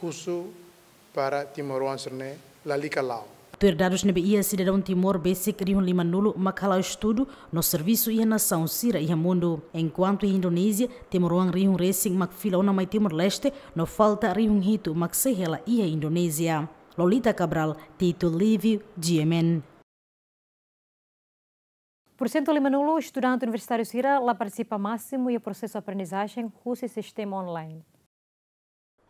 husu para timoroan sira-ne'e lalika la'o. Tuir dadus ne'ebé iha, sidadaun Timor besik rihun limanulu mak hala'o estudu no servisu iha nasaun sira iha mundu. Enkuantu iha Indonézia, timoroan rihun resin mak fila ona mai Timor-Leste, no falta rihun hitu mak sei hela iha Indonézia. Lolita Cabral, Tito Livio, G M N. Pursentu limanulu estudante universitáriu sira la partisipa másimu iha prosesu aprendizajen husi sistema online.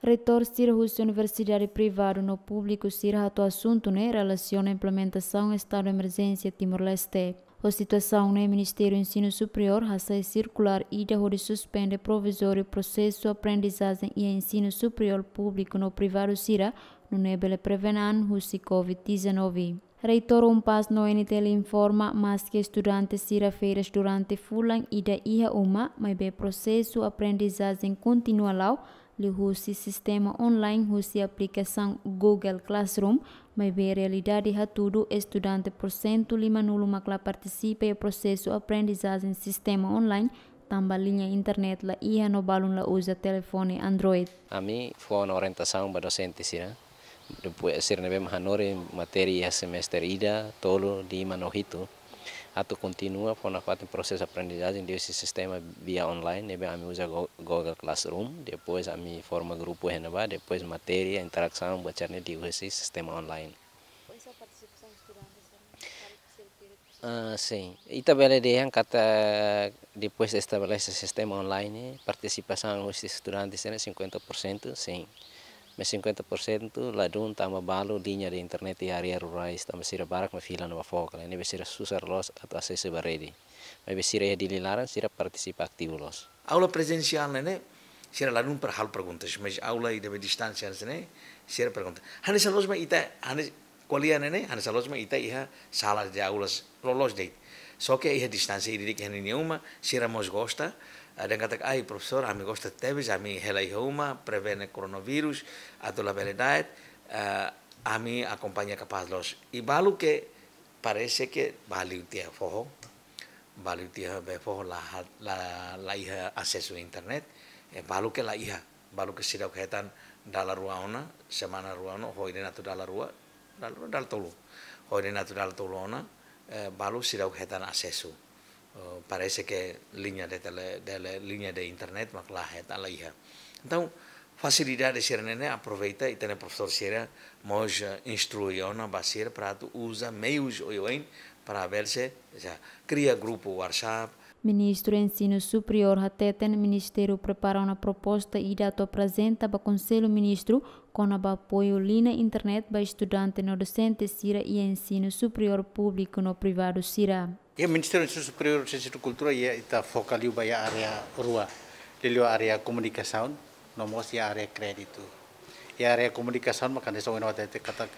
Reitór sira husi universidade privadu no públiku sira hato'o asuntu ne'e relasiona implementasaun estadu emerjénsia Timor-Leste. Ho situasaun ne'e, Ministériu Ensinu Superiór hasai sirkulár ida hodi suspende provizóriu prosesu aprendizajen iha ensinu superiór públiku no privadu sira, nune'e bele prevene an husi covid dezanove. Reitór UNPAZ no N T L informa, maske estudante sira férias durante fulan ida iha uma, maibé prosesu aprendizajen kontinua la'o, liuhusi sistema online husi aplikasaun Google Classroom, maibé realidade hatudu estudante pursentu limanulu mak la partisipa iha prosesu aprendizajen sistema online, tanba liña internet la iha no balun la uza telefone Android. Ami fó ona orientasaun ba dosente sira, depois sira ne'ebé mak hanorin matéria semestre ida, tolu, lima no hitu, atu kontinua fó nafatin prosesu aprendizajen liuhusi sistema via online, ne'ebé ami uza Go-, Google Classroom, depois ami forma grupu iha ne'ebá, depois matéria, interasaun, buat sira-ne'e liuhusi sistema online. Ah, sin. Ita bele dehan katak depois estabelese sistema online, partisipasaun husi estudante sira ne'e cinquenta por cento, sin. Mas cinquenta por cento ladún tanba balu liña de internet iha área rurais, tanba sira barak mak fila ona ba foho, ne'ebé sira susar loos atu asesu ba rede. Maibé sira iha Dili laran, sira partisipa ativu loos. Aula prezensiál ne'e, sira ladún para halo perguntas, mas aula ida be distánsia ne'e, sira pergunta. Hanesan loos mak ita, hanesan ko'alia ne'e, hanesan loos mak ita iha sala de aulas loloos de'it. Só ke iha distánsia ida de'it iha ninia uma, sira mós gosta, eh, dehan katak, "Ai, profesór, ami gosta tebes, ami hela iha uma, prevene koronavírus, atu labele da'et, eh, ami akompaña kapás loos." I balu ke parese ke bá liu tiha foho, bá liu tiha be foho la ha-, la, la iha asesu internet, eh, balu ke la iha, balu ke seidauk hetan dala rua ona, semana rua ona, ho ida-ne'e atu dala rua, dala rua, dala tolu. Ho ida-ne'e atu dala tolu ona, eh, balu seidauk hetan asesu. Eh, parese ke liña de tele-, de le-, liña de internet mak la hetan, la iha. Entaun, fasilidade sira-ne'e ne'e aproveita ita-nia profesór sira mós, eh, instrui ona ba sira para atu uza meius oioin para bele se, se kria grupu WhatsApp. Ministru Ensinu Superiór hateten Ministériu prepara ona proposta ida atu aprezenta ba Konsellu Ministru kona-ba apoiu liña internet ba estudante no dosente sira iha ensinu superiór públiku no privadu sira. Iha Ministériu Ensinu Superiór, Siénsia no Kultura, iha ita foka liu ba iha área rua, liuliu área komunikasaun, no mós iha área kréditu. Iha área komunikasaun, maka hanesan ohin ha'u hatete katak,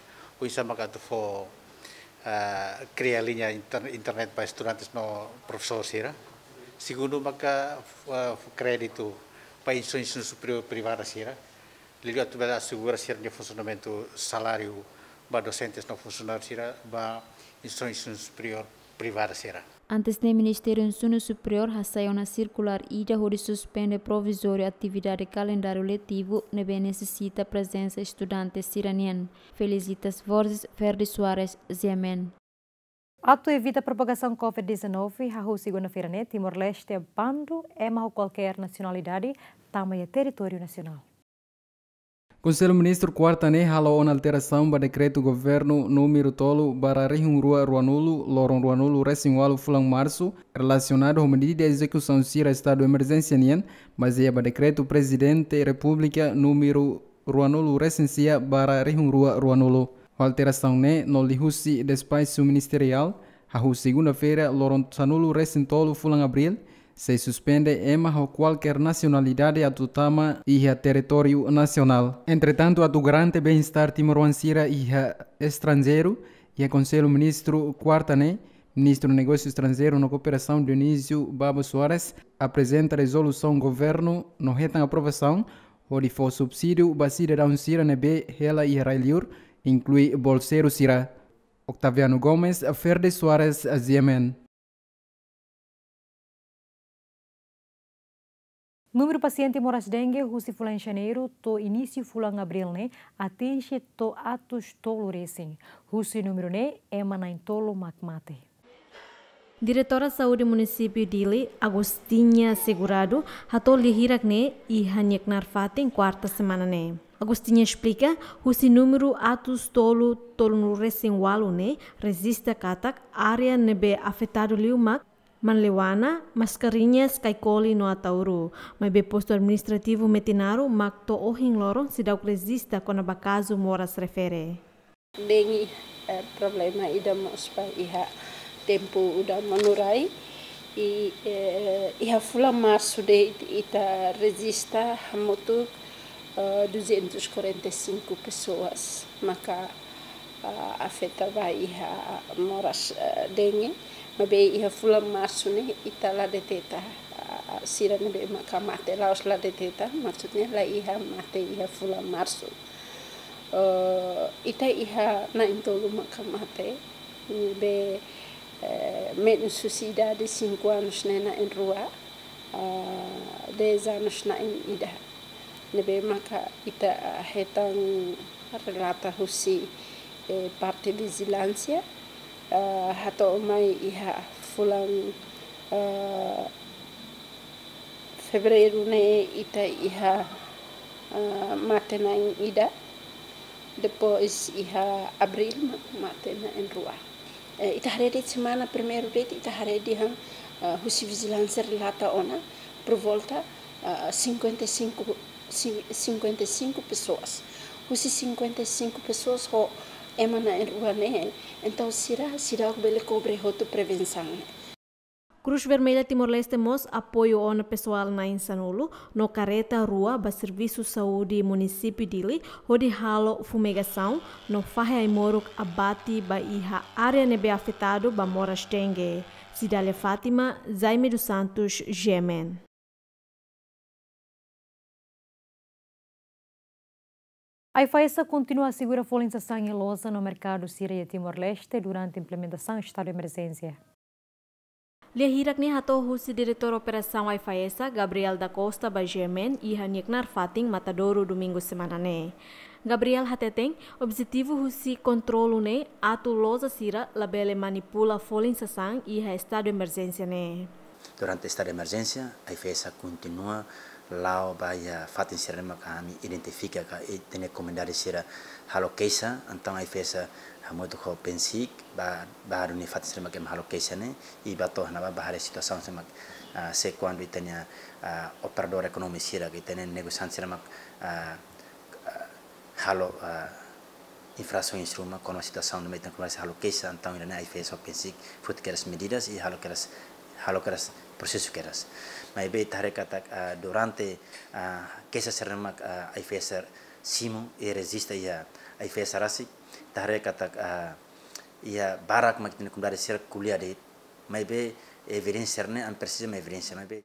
oinsá maka atu fó, ah, kria liña inter-, internet ba estudantes no profesór sira. Segundu, maka, ah, fó kréditu ba instituisaun superiór privada sira. Liuliu atu bele asegura sira-nia funsionamentu saláriu ba dosentes no funsionáriu sira ba instituisaun superiór privada sira. Antes ne'e Ministériu Ensinu Superiór hasai ona sirkulár ida hodi suspende provizóriu atividade kalendáriu letivu ne'ebé nesesita prezensa estudante sira-nian. Felicitas Borges, Ferdi Soares, G M N. Atu evita propagasaun covid dezanove, hahú segunda-feira ne'e Timor-Leste bandu ema ho kualkér nasionalidade tama iha territóriu nasionál. Konsellu Ministru kuarta ne'e halo ona alterasaun ba dekretu governu númeru tolu barra rihun rua ruanulu, loron ruanulu resin ualu fulan marsu, relasionadu ho medida ezekusaun sira estadu emerjénsia nian, bazeia ba dekretu Prezidente Repúblika númeru ruanulu resin sia barra rihun rua ruanulu. Ho alterasaun ne'e no liuhusi despaxu ministeriál, hahú segunda-feira, loron sanulu resin tolu fulan abríl, sei suspende ema ho kualkér nasionalidade atu tama iha territóriu nasionál. Entretantu, atu garante bem-estar timoroan sira iha estranjeiru, iha Konsellu Ministru kuarta ne'e, Ministru Negósiu Estranjeiru no Kooperasaun Dionísio Babo Soares aprezenta rezolusaun governu no hetan aprovasaun hodi fó subsídiu ba sidadaun sira ne'ebé hela iha rai-liur, inklui bolseiru sira. Octaviano Gomes, Ferdi Soares, G M N. Númeru pasiente moras dengue husi fulan Janeiru to'o inísiu fulan Abríl ne'e atinje to'o atus tolu resin. Husi númeru ne'e ema na'in-tolu mak mate. Diretora Saúde Munisípiu Dili, Agostinha Segurado, hato'o lia hirak ne'e iha nia knaar fatin kuarta semana ne'e. Agostinha esplika, husi númeru atus tolu tolunulu resin ualu ne'e rejista katak área ne'ebé afetadu liu mak Manleuana, Mascarenhas, Caicoli no Ataúro. Maibé postu administrativu Metinaro mak to'o ohin loron seidauk rejista kona-ba kazu moras refere. Dengue, eh, problema ida mós ba iha tempu udan manu rai. I, eh, iha fulan Marsu de'it ita rejista hamutuk, eh, duzentos e quarenta e cinco pessoas maka, ah, afeta ba iha moras, eh, dengue. Maibé iha fulan Marsu ne'e ita la deteta, ah, sira ne'ebé maka mate, la'ós la deteta, maksudnya la iha mate iha fulan Marsu. Eh, ita iha na'in-tolu maka mate, ne'ebé, eh, menus husi idade cinco anos ne'e na'in-rua, ah, dez anos na'in-ida. Ne'ebé maka ita, ah, hetan relata husi, eh, parte vijilánsia, ah, hato'o mai iha fulan, ah, Fevereiru ne'e ita iha, ah, mate na'in-ida, depois iha Abríl ma-, mate na'in-rua. Eh, ita haree de'it semana primeiru de'it ita haree dehan, ah, husi vijilánsia relata ona por volta, ah, cinquenta e cinco, cin-, cinquenta e cinco pessoas. Husi cinquenta e cinco pessoas ho ema na'in-rua ne'e, entaun sira, seidauk bele kobre hotu prevensaun ne'e. Cruz Vermelha Timor-Leste mós apoiu ona pesoál na'in-sanulu no kareta rua ba servisu saúde munisípiu Dili hodi halo fumigasaun no fahe ai-moruk abate ba iha área ne'ebé afetadu ba moras dengue. Cidália Fátima, Jaime dos Santos, G M N. AIFAESA kontinua asegura folin sasán iha loja no merkadu sira iha Timor-Leste durante implementasaun estadu de emerjénsia. Lia hirak ne'e hato'o husi Diretór Operasaun AIFAESA, Gabriel da Costa, ba G M N iha nia knaar fatin Matadouro, Domingu semana ne'e. Gabriel hateten, objetivu husi kontrolu ne'e atu loja sira labele manipula folin sasán iha estadu emerjénsia ne'e. Durante estadu de emerjénsia, AIFAESA kontinua la'o ba iha fatin sira ne'ebé maka ami identifika ka ita-nia komunidade sira halo keixa, entaun AIFAESA hamutuk ho PNCIC ba, ba duni fatin sira ne'ebé maka ema halo keixa ne'e, i ba to'o iha ne'ebá ba haree situasaun sira ne'ebé maka, ah, se kuandu ita-nia, ah, operadór ekonómiku sira, ita-nia negosiante sira ne'ebé maka, ah, ah, halo, ah, infrasaun iha ruma, kona-ba situasaun ne'ebé ita-nia komunidade halo keixa, entaun ida-ne'e AIFAESA ho PNCIC foti kedas medidas i halo kedas, halo kedas prosesu kedas. Maibé ita haree katak, ah, durante, ah, keixa sira ne'ebé maka, ah, AIFAESA simu i rejista iha AIFAESA rasik, ita haree katak, ah, iha barak mak ita-nia komunidade sira ko'alia de'it. Maibé evidénsia ne'e ami presiza mak evidénsia, maibé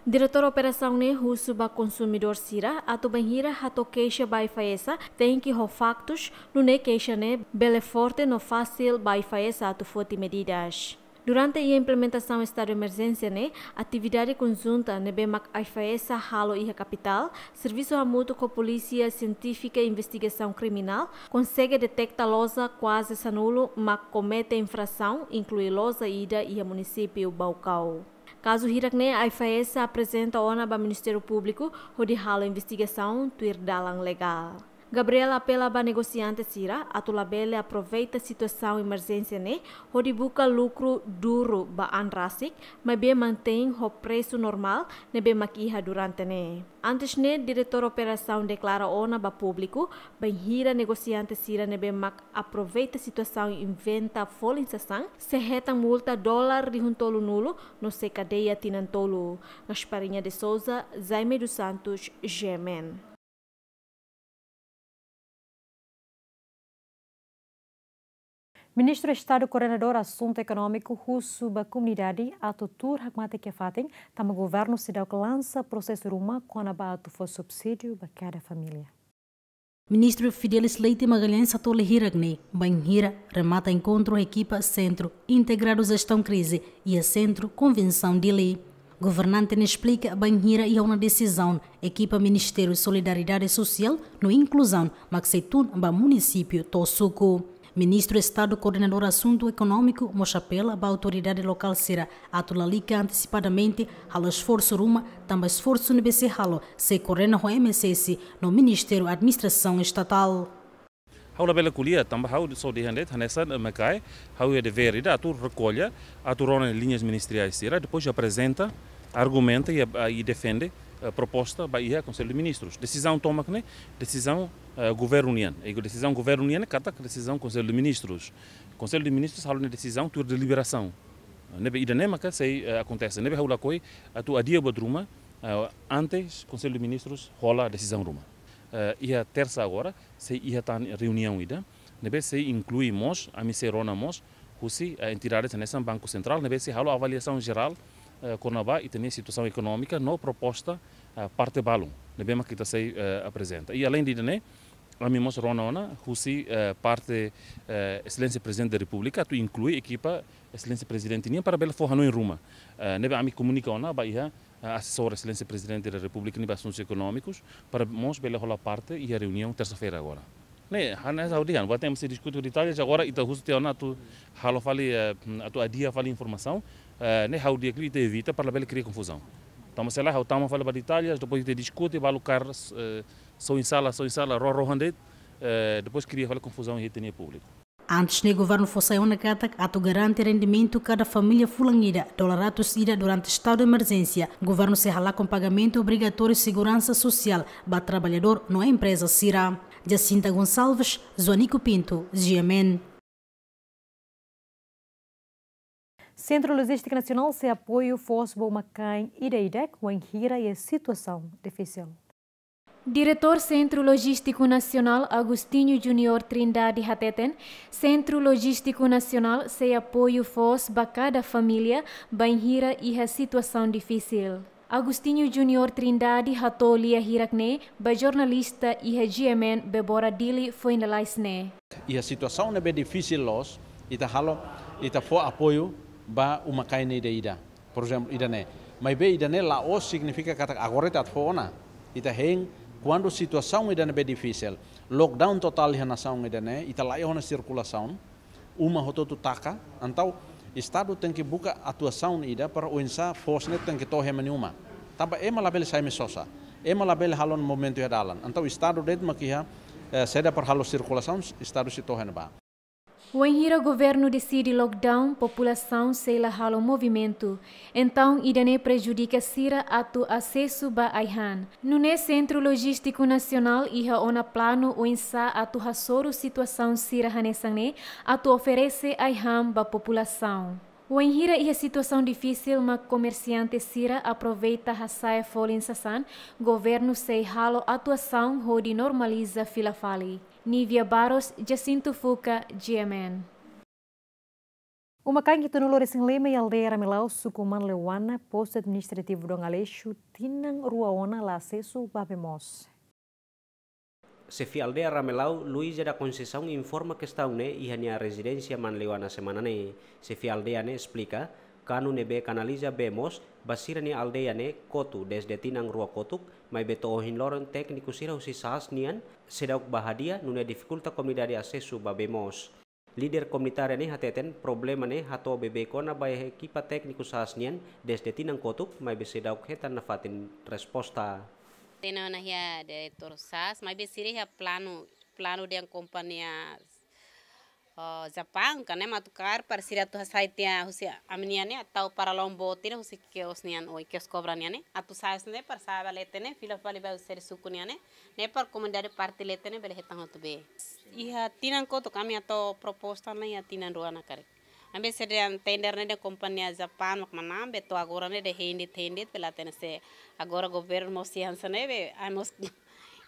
Diretór Operasaun ne'e husu ba konsumidór sira atu bainhira hato'o keixa ba AIFAESA, tenke ho faktus, nune'e keixa ne'e bele forte no fasil ba AIFAESA atu foti medidas. Durante iha implementasaun estadu emerjénsia ne'e, atividade konjunta ne'ebé mak AIFAESA halo iha kapitál, servisu hamutuk ho Polísia Sientífika Investigasaun Kriminál, konsege deteta loja kuaze sanulu mak komete infrasaun, inklui loja ida iha munisípiu Baucau. Kazu hirak-ne'e AIFAESA aprezenta ona ba Ministériu Públiku hodi halo investigasaun tuir dalan legál. Gabriel apela ba negosiante sira atu labele aproveita situasaun emerjénsia ne'e hodi buka lukru duru ba an rasik, maibé mantein ho presu normál ne'ebé mak iha durante ne'e. Antes ne'e, Diretór Operasaun deklara ona ba públiku, bainhira negosiante sira ne'ebé mak aproveita situasaun inventa folin sasán, sei hetan multa dolar rihun tolunulu no sei kadeia tinan tolu. Gasparinha de Souza, Jaime dos Santos, G M N. Ministru Estadu Koordenadór Asuntu Ekonómiku husu ba komunidade atu tuur hakmatek iha fatin, tanba governu seidauk lansa prosesu ruma kona-ba atu fó subsídiu ba kada família. Ministru Fidelis Leite Magalhães hato'o lia hirak-ne'e, bainhira remata enkontru ekipa Sentru Integradu Jestaun Krize iha Sentru Konvensaun Dili. Governante ne'e esplika bainhira iha ona desizaun ekipa Ministériu Solidariedade Sosiál no Inkluzaun mak sei tun ba munisípiu to'o suku. Ministru Estadu Koordenadór Asuntu Ekonómiku mós apela ba autoridade lokál sira atu lalika antesipadamente halo esforsu ruma, tanba esforsu ne'ebé sei halo sei koordena ho M S S no Ministériu Administrasaun Estatál. Ha'u labele ko'alia, tanba ha'u só dehan de'it, hanesan, eh, Mekai, ha'u iha devér ida atu rekolla, atu rona liñas ministeriais sira, depois aprezenta, argumenta i, ah, i defende, eh, proposta ba iha Konsellu de Ministrus. Desizaun tomak ne'e, desizaun, eh, Governu nian. I desizaun Governu nian ne'e katak desizaun Konsellu de Ministrus. Konsellu de Ministrus halo nia desizaun tuir deliberasaun. Ne'ebé ida-ne'e maka sei, eh, akontese. Ne'ebé ha'u lakohi atu adia buat ruma, eh, antes Konsellu de Ministrus hola desizaun ruma. Eh, iha tersa agora, sei iha tan reuniaun ida, ne'ebé sei inklui mós, ami sei rona mós, husi, eh, entidades hanesan Banku Sentrál, ne'ebé sei halo avaliasaun jerál, eh, kona-ba ita-nia situasaun ekonómika no proposta, eh, parte balun, ne'ebé mak ita sei, eh, aprezenta. I aleinde ida-ne'e, ami mós rona ona, husi, eh, parte, eh, Exelénsia Prezidente da Repúblika, atu inklui ekipa Exelénsia Prezidente nian para bele fó hanoin ruma. Eh, ne'ebé ami komunika ona ba iha, eh, asesór Exelénsia Prezidente da Repúblika nian ba asuntus ekonómikus, para mós bele hola parte iha reuniaun tersa-feira agora. Ne'e, hanesan ha'u dehan, buat ne'e mesti diskute ho detalles, agora ita husu tiha ona atu halo fali, eh, atu adia fali informasaun, eh, ne'e ha'u dehan katak ita evita para labele kria konfuzaun. Tanba se lae ha'u tama fali ba detalles, depois ita diskute, balu kaer, eh, soin sala, soin sala, rohan-rohan de'it, eh, depois kria fali konfuzaun iha ita-nia públiku. Antes ne'e governu fó sai ona katak atu garante rendimentu kada família fulan ida dolar ratus ida durante estadu de emerjénsia, governu sei halakon pagamentu obrigatóriu seguransa sosiál ba traballadór no empreza sira. Jacinta Gonçalves, Joanico Pinto, G M N. Sentru Lojístiku Nasionál sei apoiu foos ba uma-kain ida-idak wainhira iha situasaun difisil. Diretór Sentru Lojístiku Nasionál Agostinho Junior Trindade hateten, Sentru Lojístiku Nasionál sei apoiu foos ba kada família bainhira iha situasaun difisil. Agostinho Junior Trindade hato'o lia hirak-ne'e ba jornalista iha G M N Bebora Dili foin lalais ne'e. Iha situasaun ne'ebé difisil loos, ita halo, ita fó apoiu ba uma-kain ida-idak. Por ezemplu, ida-ne'e. Maibé ida-ne'e la'ós signifika katak agora ita atu fó ona. Ita hein, kuandu situasaun ida ne'ebé difisil, lockdown totál iha nasaun ida-ne'e, ita laiha ona sirkulasaun, uma hotu-hotu taka, entaun Estadu tenke buka atuasaun ida para oinsá foos ne'e tenke to'o iha ema nia uma. Tanba ema labele sai mai sosa. Ema labele halo movimentu iha dalan. Entaun Estadu de'it mak iha, eh, saida para halo sirkulasaun, Estadu sei to'o iha ne'ebá. Wainhira governu deside lockdown, populasaun sei la halo movimentu. Entaun ida-ne'e prejudika sira atu asesu ba ai-han. Nune'e Sentru Lojístiku Nasionál iha ona planu oinsá atu hasoru situasaun sira hanesan ne'e atu oferese ai-han ba populasaun. Wainhira iha situasaun difisil mak komersiante sira aproveita hasa'e folin sasán, governu sei halo atuasaun hodi normaliza fila fali. Nívia Barros, Jacinto Fuca, G M N. Uma-kain hitunulu-resin-lima iha aldeia Ramelau, suku Manleuana, postu administrativu Dom Aleixo, tinan rua ona la asesu ba bee moos. Xefe aldeia Ramelau, Luísa da Conceição, informa kestaun ne'e iha nia rezidénsia Manleuana semana ne'e. Xefe aldeia ne'e esplika, kanu ne'ebé kanaliza bee moos ba sira-nia aldeia ne'e kotu dezde tinan rua kotuk, maibé to'o ohin loron tékniku sira husi SAAS nian seidauk bá hadi'a, nune'e difikulta komunidade asesu ba bee moos. Líder komunitária ne'e hateten, problema ne'e hato'o bebeik ona ba ekipa tékniku SAAS nian dezde tinan kotuk, maibé seidauk hetan nafatin resposta. Tenke ona iha diretór SAAS, maibé sira iha planu, planu dehan kompañia, oh, Japaun, ka ne'e mak atu kaer para sira atu hasai tiha husi ami-nian ne'e, atu para lombo tiha husi kios nian, oi, kios kobra nian ne'e, atu SAAS ne'e para sa'e ba leten ne'e, fila fali ba husi suku nian ne'e, ne'e para komunidade parte leten ne'e bele hetan hotu bee. Iha tinan kotuk ami atu proposta ona iha tinan rua ona karik. Ami sira dehan tender ne'e dehan kompañia Japaun mak manán, be to'o agora ne'e dehan hein de'it, hein de'it, be la hatene se agora governu mós iha hanesan ne'e be, ami mós,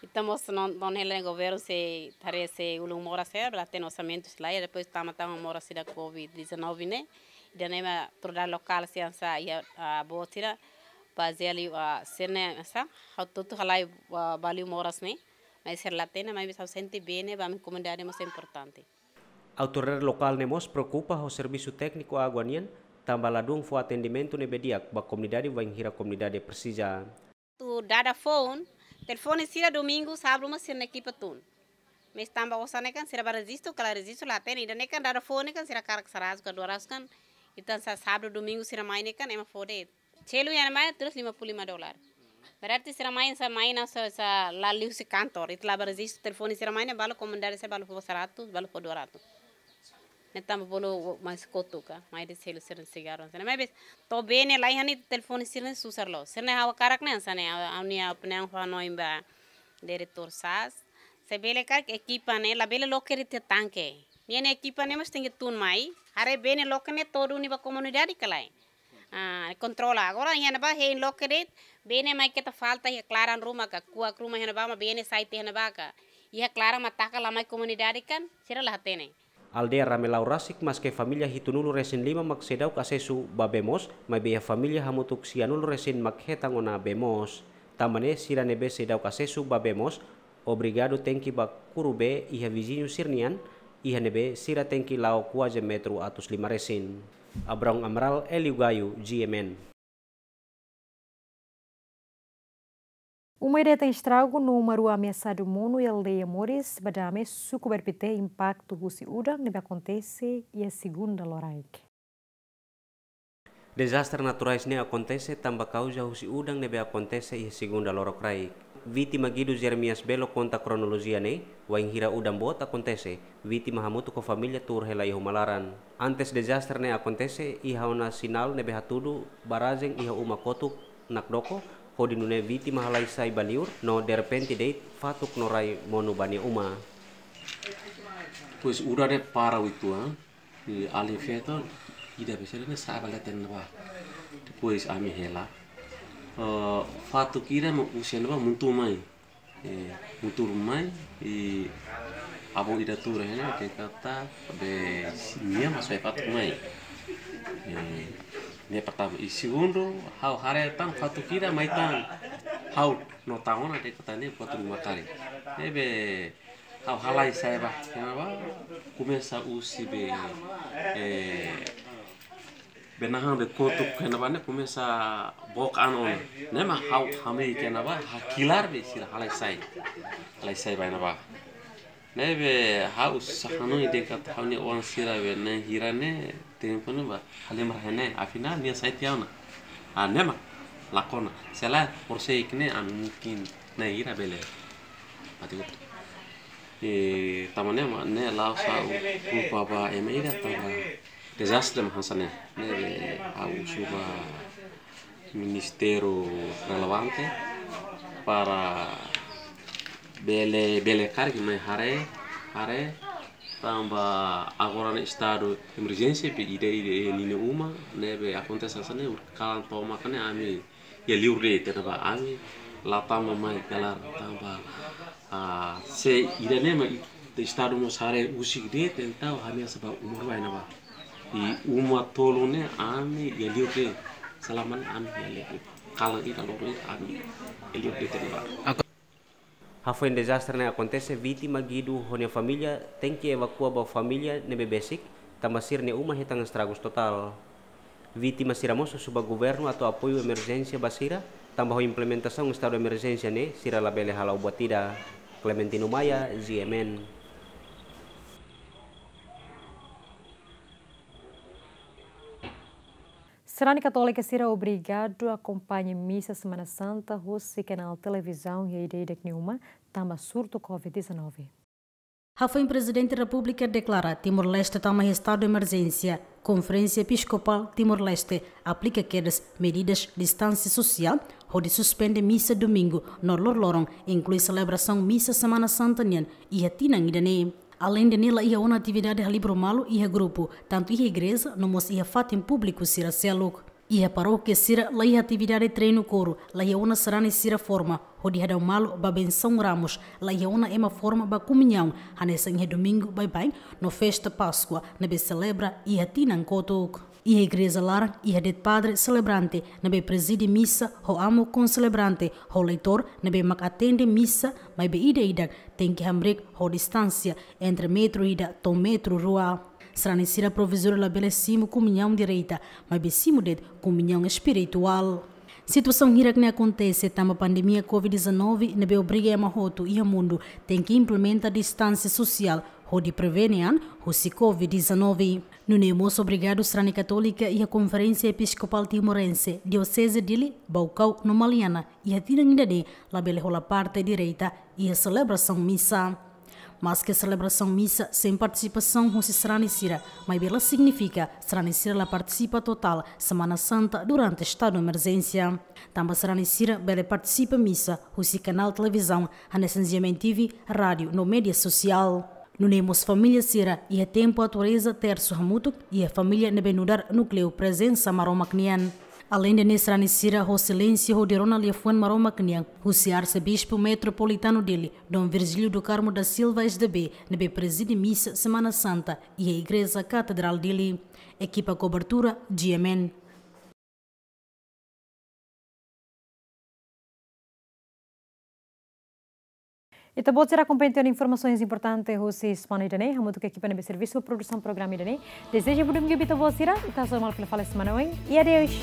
ita mós non, non hela governu sei haree se ulun moras sira, be la hatene orsamentu sira la iha, depois tama-tama moras sira Covid dezanove ne'e, ida-ne'e mak autoridade lokál sira hanesan iha, ah, boot sira, bazeia liu, ah, sira-ne'e hanesan, ha'u tutu halai, ah, ba liu moras ne'e, maibé sira la hatene, maibé ha'u sente bee ne'e ba ami komunidade mós importante. Autoridade lokál ne'e mós preokupa ho servisu tékniku água nian, tanba ladún fó atendimentu ne'ebé di'ak ba komunidade wainhira komunidade presiza. Atu dada foun, telefone sira domingu, sábadu mak sira-nia ekipa tun. Maibé tanba osan ne'e kan sira bá rejistu, kala rejistu la hatene, ida-ne'e kan dada foun ne'e kan sira hakarak seratus ka dua ratus kan, entaun sa sábadu domingu sira mai ne'e kan ema fó de'it. Selu iha ne'ebá tulis lima puluh lima dolar. Berarti sira mai, sira mai hanesan, hanesan la liu husi kantor. Ita la bá rejistu telefone sira mai ne'e balu komunidade sira balu fó seratus, balu fó dua ratus. Ne'e tanba bolu mai kotuk ka, mai dehan selu sira-nia sigarru. Sira mai bes, to'o bee ne'e la iha ne'e telefone sira-ne'e susar loos. Sira-ne'e ha'u hakarak ne'e hanesan ne'e, ha'u, ha'u-nia opiniaun fó hanoin ba diretór SAAS. Se bele karik ekipa ne'e, labele loke de'it iha tanke. Nia-nia ekipa ne'e mós tenke tun mai. Haree bee ne'e loke ne'e to'o duni ba komunidade ka lae. Ah, kontrola. Agora iha ne'ebá hein loke de'it, bee ne'e mai keta falta iha klaran ruma ka, kuak ruma iha ne'ebá mak bee ne'e sai tiha iha ne'ebá ka. Iha klaran mak taka la mai komunidade kan, sira la hatene. Aldeia Ramelau rasik maske família hitunulu resin lima mak seidauk asesu ba bee moos, maibé iha família hamutuk sianulu resin mak hetan ona bee moos. Tanba ne'e sira ne'ebé seidauk asesu ba bee moos, obrigadu tenke bá kuru bee iha viziñu sira-nian, iha ne'ebé sira tenke la'o kuaze metru atus lima resin. Abrão Amaral, Hélio Gaio, G M N. Uma ida hetan estragu no uma rua ameasadu monu iha aldeia Moris, Badame, suku Bairpité, impaktu husi udan ne'ebé akontese iha segunda loraik. Dezastre naturais ne'e akontese tanba kauza husi udan ne'ebé akontese iha segunda lorokraik. Vítima Guido Jeremias Belo konta kronolojia ne'e, wainhira udan boot akontese, vítima hamutuk ho família tuur hela iha uma laran. Antes dezastre ne'e akontese, iha ona sinál ne'ebé hatudu barrajen iha uma kotuk Nakdoko, hodi nune'e vítima halai sai ba liur, no derrepente de'it fatuk no rai monu ba nia uma. Pois udan ne'e para uitoan, i alin feto ida besera ne'e sa'e ba leten ne'ebá. Depois ami hela. Eh, fatuk ida mak husi ne'ebá muntu mai. Eh, muntu mai, i avó ida tuur hela, dehan katak be nia mak soe fatuk mai. Eh, ne'e pertama. I segundu, ha'u haree tan fatuk ida mai tan. Ha'u no tan ona dehan katak ne'e buat ruma karik. Ne'ebé ha'u halai sai ba, iha ne'ebá, komesa husi be, eh, be nahan be kotuk iha ne'ebá ne'e komesa book an ona. Ne'e mak ha'u hamriik iha ne'ebá, hakilar be sira halai sai. Halai sai ba iha ne'ebá. Ne'ebé ha'u sá hanoin dehan katak ha'u-nia oan sira be na'in hira ne'e, tempu ne'ebá halimar iha ne'e, afinál nia sai tiha ona. Ah, ne'e mak lakon ona. Se lae, por sei ke ne'e ami mungkin na'in hira bele mate hotu. I tanba ne'e mak ne'e la'ós ha'u kulpa ba ema ida, tanba dezastre mak hanesan ne'e. Ne'ebé ha'u husu ba ministériu relevante para bele, bele karik mai haree, haree, tanba agora ne'e estadu emerjénsia be ida-idak iha ninia uma, ne'ebé akontese hanesan ne'e, kalan tomak ne'e ami iha liur de'it iha ne'ebá, ami la tama mai kelar tanba, ah, se ida-ne'e mak i-, estadu mós haree husik de'it, entaun ami hanesan ba uma rua iha ne'ebá. I uma tolu ne'e ami iha liur de'it. Selama ne'e ami iha liur de'it. Kalan ida loron ida ami iha liur de'it iha ne'ebá. Hafoin dezastre ne'e akontese, vítima, Guido ho nia família tenke evakua ba família ne'ebé besik, tanba sira-nia uma hetan estragus totál. Vítima sira mós husu ba governu atu apoiu emerjénsia ba sira, tanba ho implementasaun estadu emerjénsia ne'e sira labele hala'o buat ida. Clementino Maia, G M N. Sarani katólika sira obrigadu akompaña misa Semana Santa husi kanál televizaun iha ida-idak nia uma, tanba surtu covid dezanove. Hafoin Prezidente Repúblika deklara Timor-Leste tama iha estadu emerjénsia, Konferénsia Episkopál Timor-Leste aplika kedas medidas distánsia sosiál hodi suspende misa domingu no loroloron, inklui selebrasaun misa Semana Santa nian iha tinan ida-ne'e. Aleinde ne'e, la iha ona atividade halibur malu iha grupu, tantu iha igreja no mós iha fatin públiku sira seluk. Iha parókia sira la iha atividade treinu koru, la iha ona sarani sira forma hodi hadau malu ba bensaun Ramos, la iha ona ema forma ba komuñaun hanesan iha domingu baibain no festa Páskua ne'ebé selebra iha tinan kotuk. Iha igreja laran iha de'it padre selebrante ne'ebé prezide misa ho amu konselebrante ho leitór ne'ebé mak atende misa, maibé ida-idak tenke hamriik ho distánsia entre metru ida to'o metru rua. Sarani sira provizóriu labele simu komuñaun direta, maibé simu de'it komuñaun espirituál. Situasaun hirak ne'e akontese tanba pandemia covid dezanove ne'ebé obriga ema hotu iha mundu tenke implementa distánsia sosiál hodi prevene an husi covid dezanove. Nune'e mós obrigadu sarani katólika iha Konferénsia Episkopál Timorense, Dioseze Dili, Baucau no Maliana iha tinan ida-ne'e labele hola parte direta iha selebrasaun misa. Maske selebrasaun misa sein partisipasaun husi sarani sira, maibé la signifika sarani sira la partisipa totál Semana Santa durante estadu emerjénsia. Tanba sarani sira bele partisipa misa husi kanál televizaun hanesan G M N T V, rádiu no média sosiál. Nune'e mós família sira iha tempu atu reza tersu hamutuk iha família ne'ebé nu'udar núkleu prezensa Maromak nian. Aleinde ne'e, sarani sira ho silénsiu hodi rona liafuan Maromak nian husi Arsebispu Metropolitanu Dili, Dom Virgílio do Carmo da Silva, S D B, ne'ebé prezide misa Semana Santa iha Igreja Katedrál Dili. Ekipa kobertura, G M N. Ita-boot sira akompaña tiha ona informasaun importante husi semana ida-ne'e, hamutuk ho ekipa ne'ebé servisu produsaun programa ida-ne'e. Dezeja ba domingu ba ita-boot sira, ita hasoru malu fila fali semana oin, i adeus.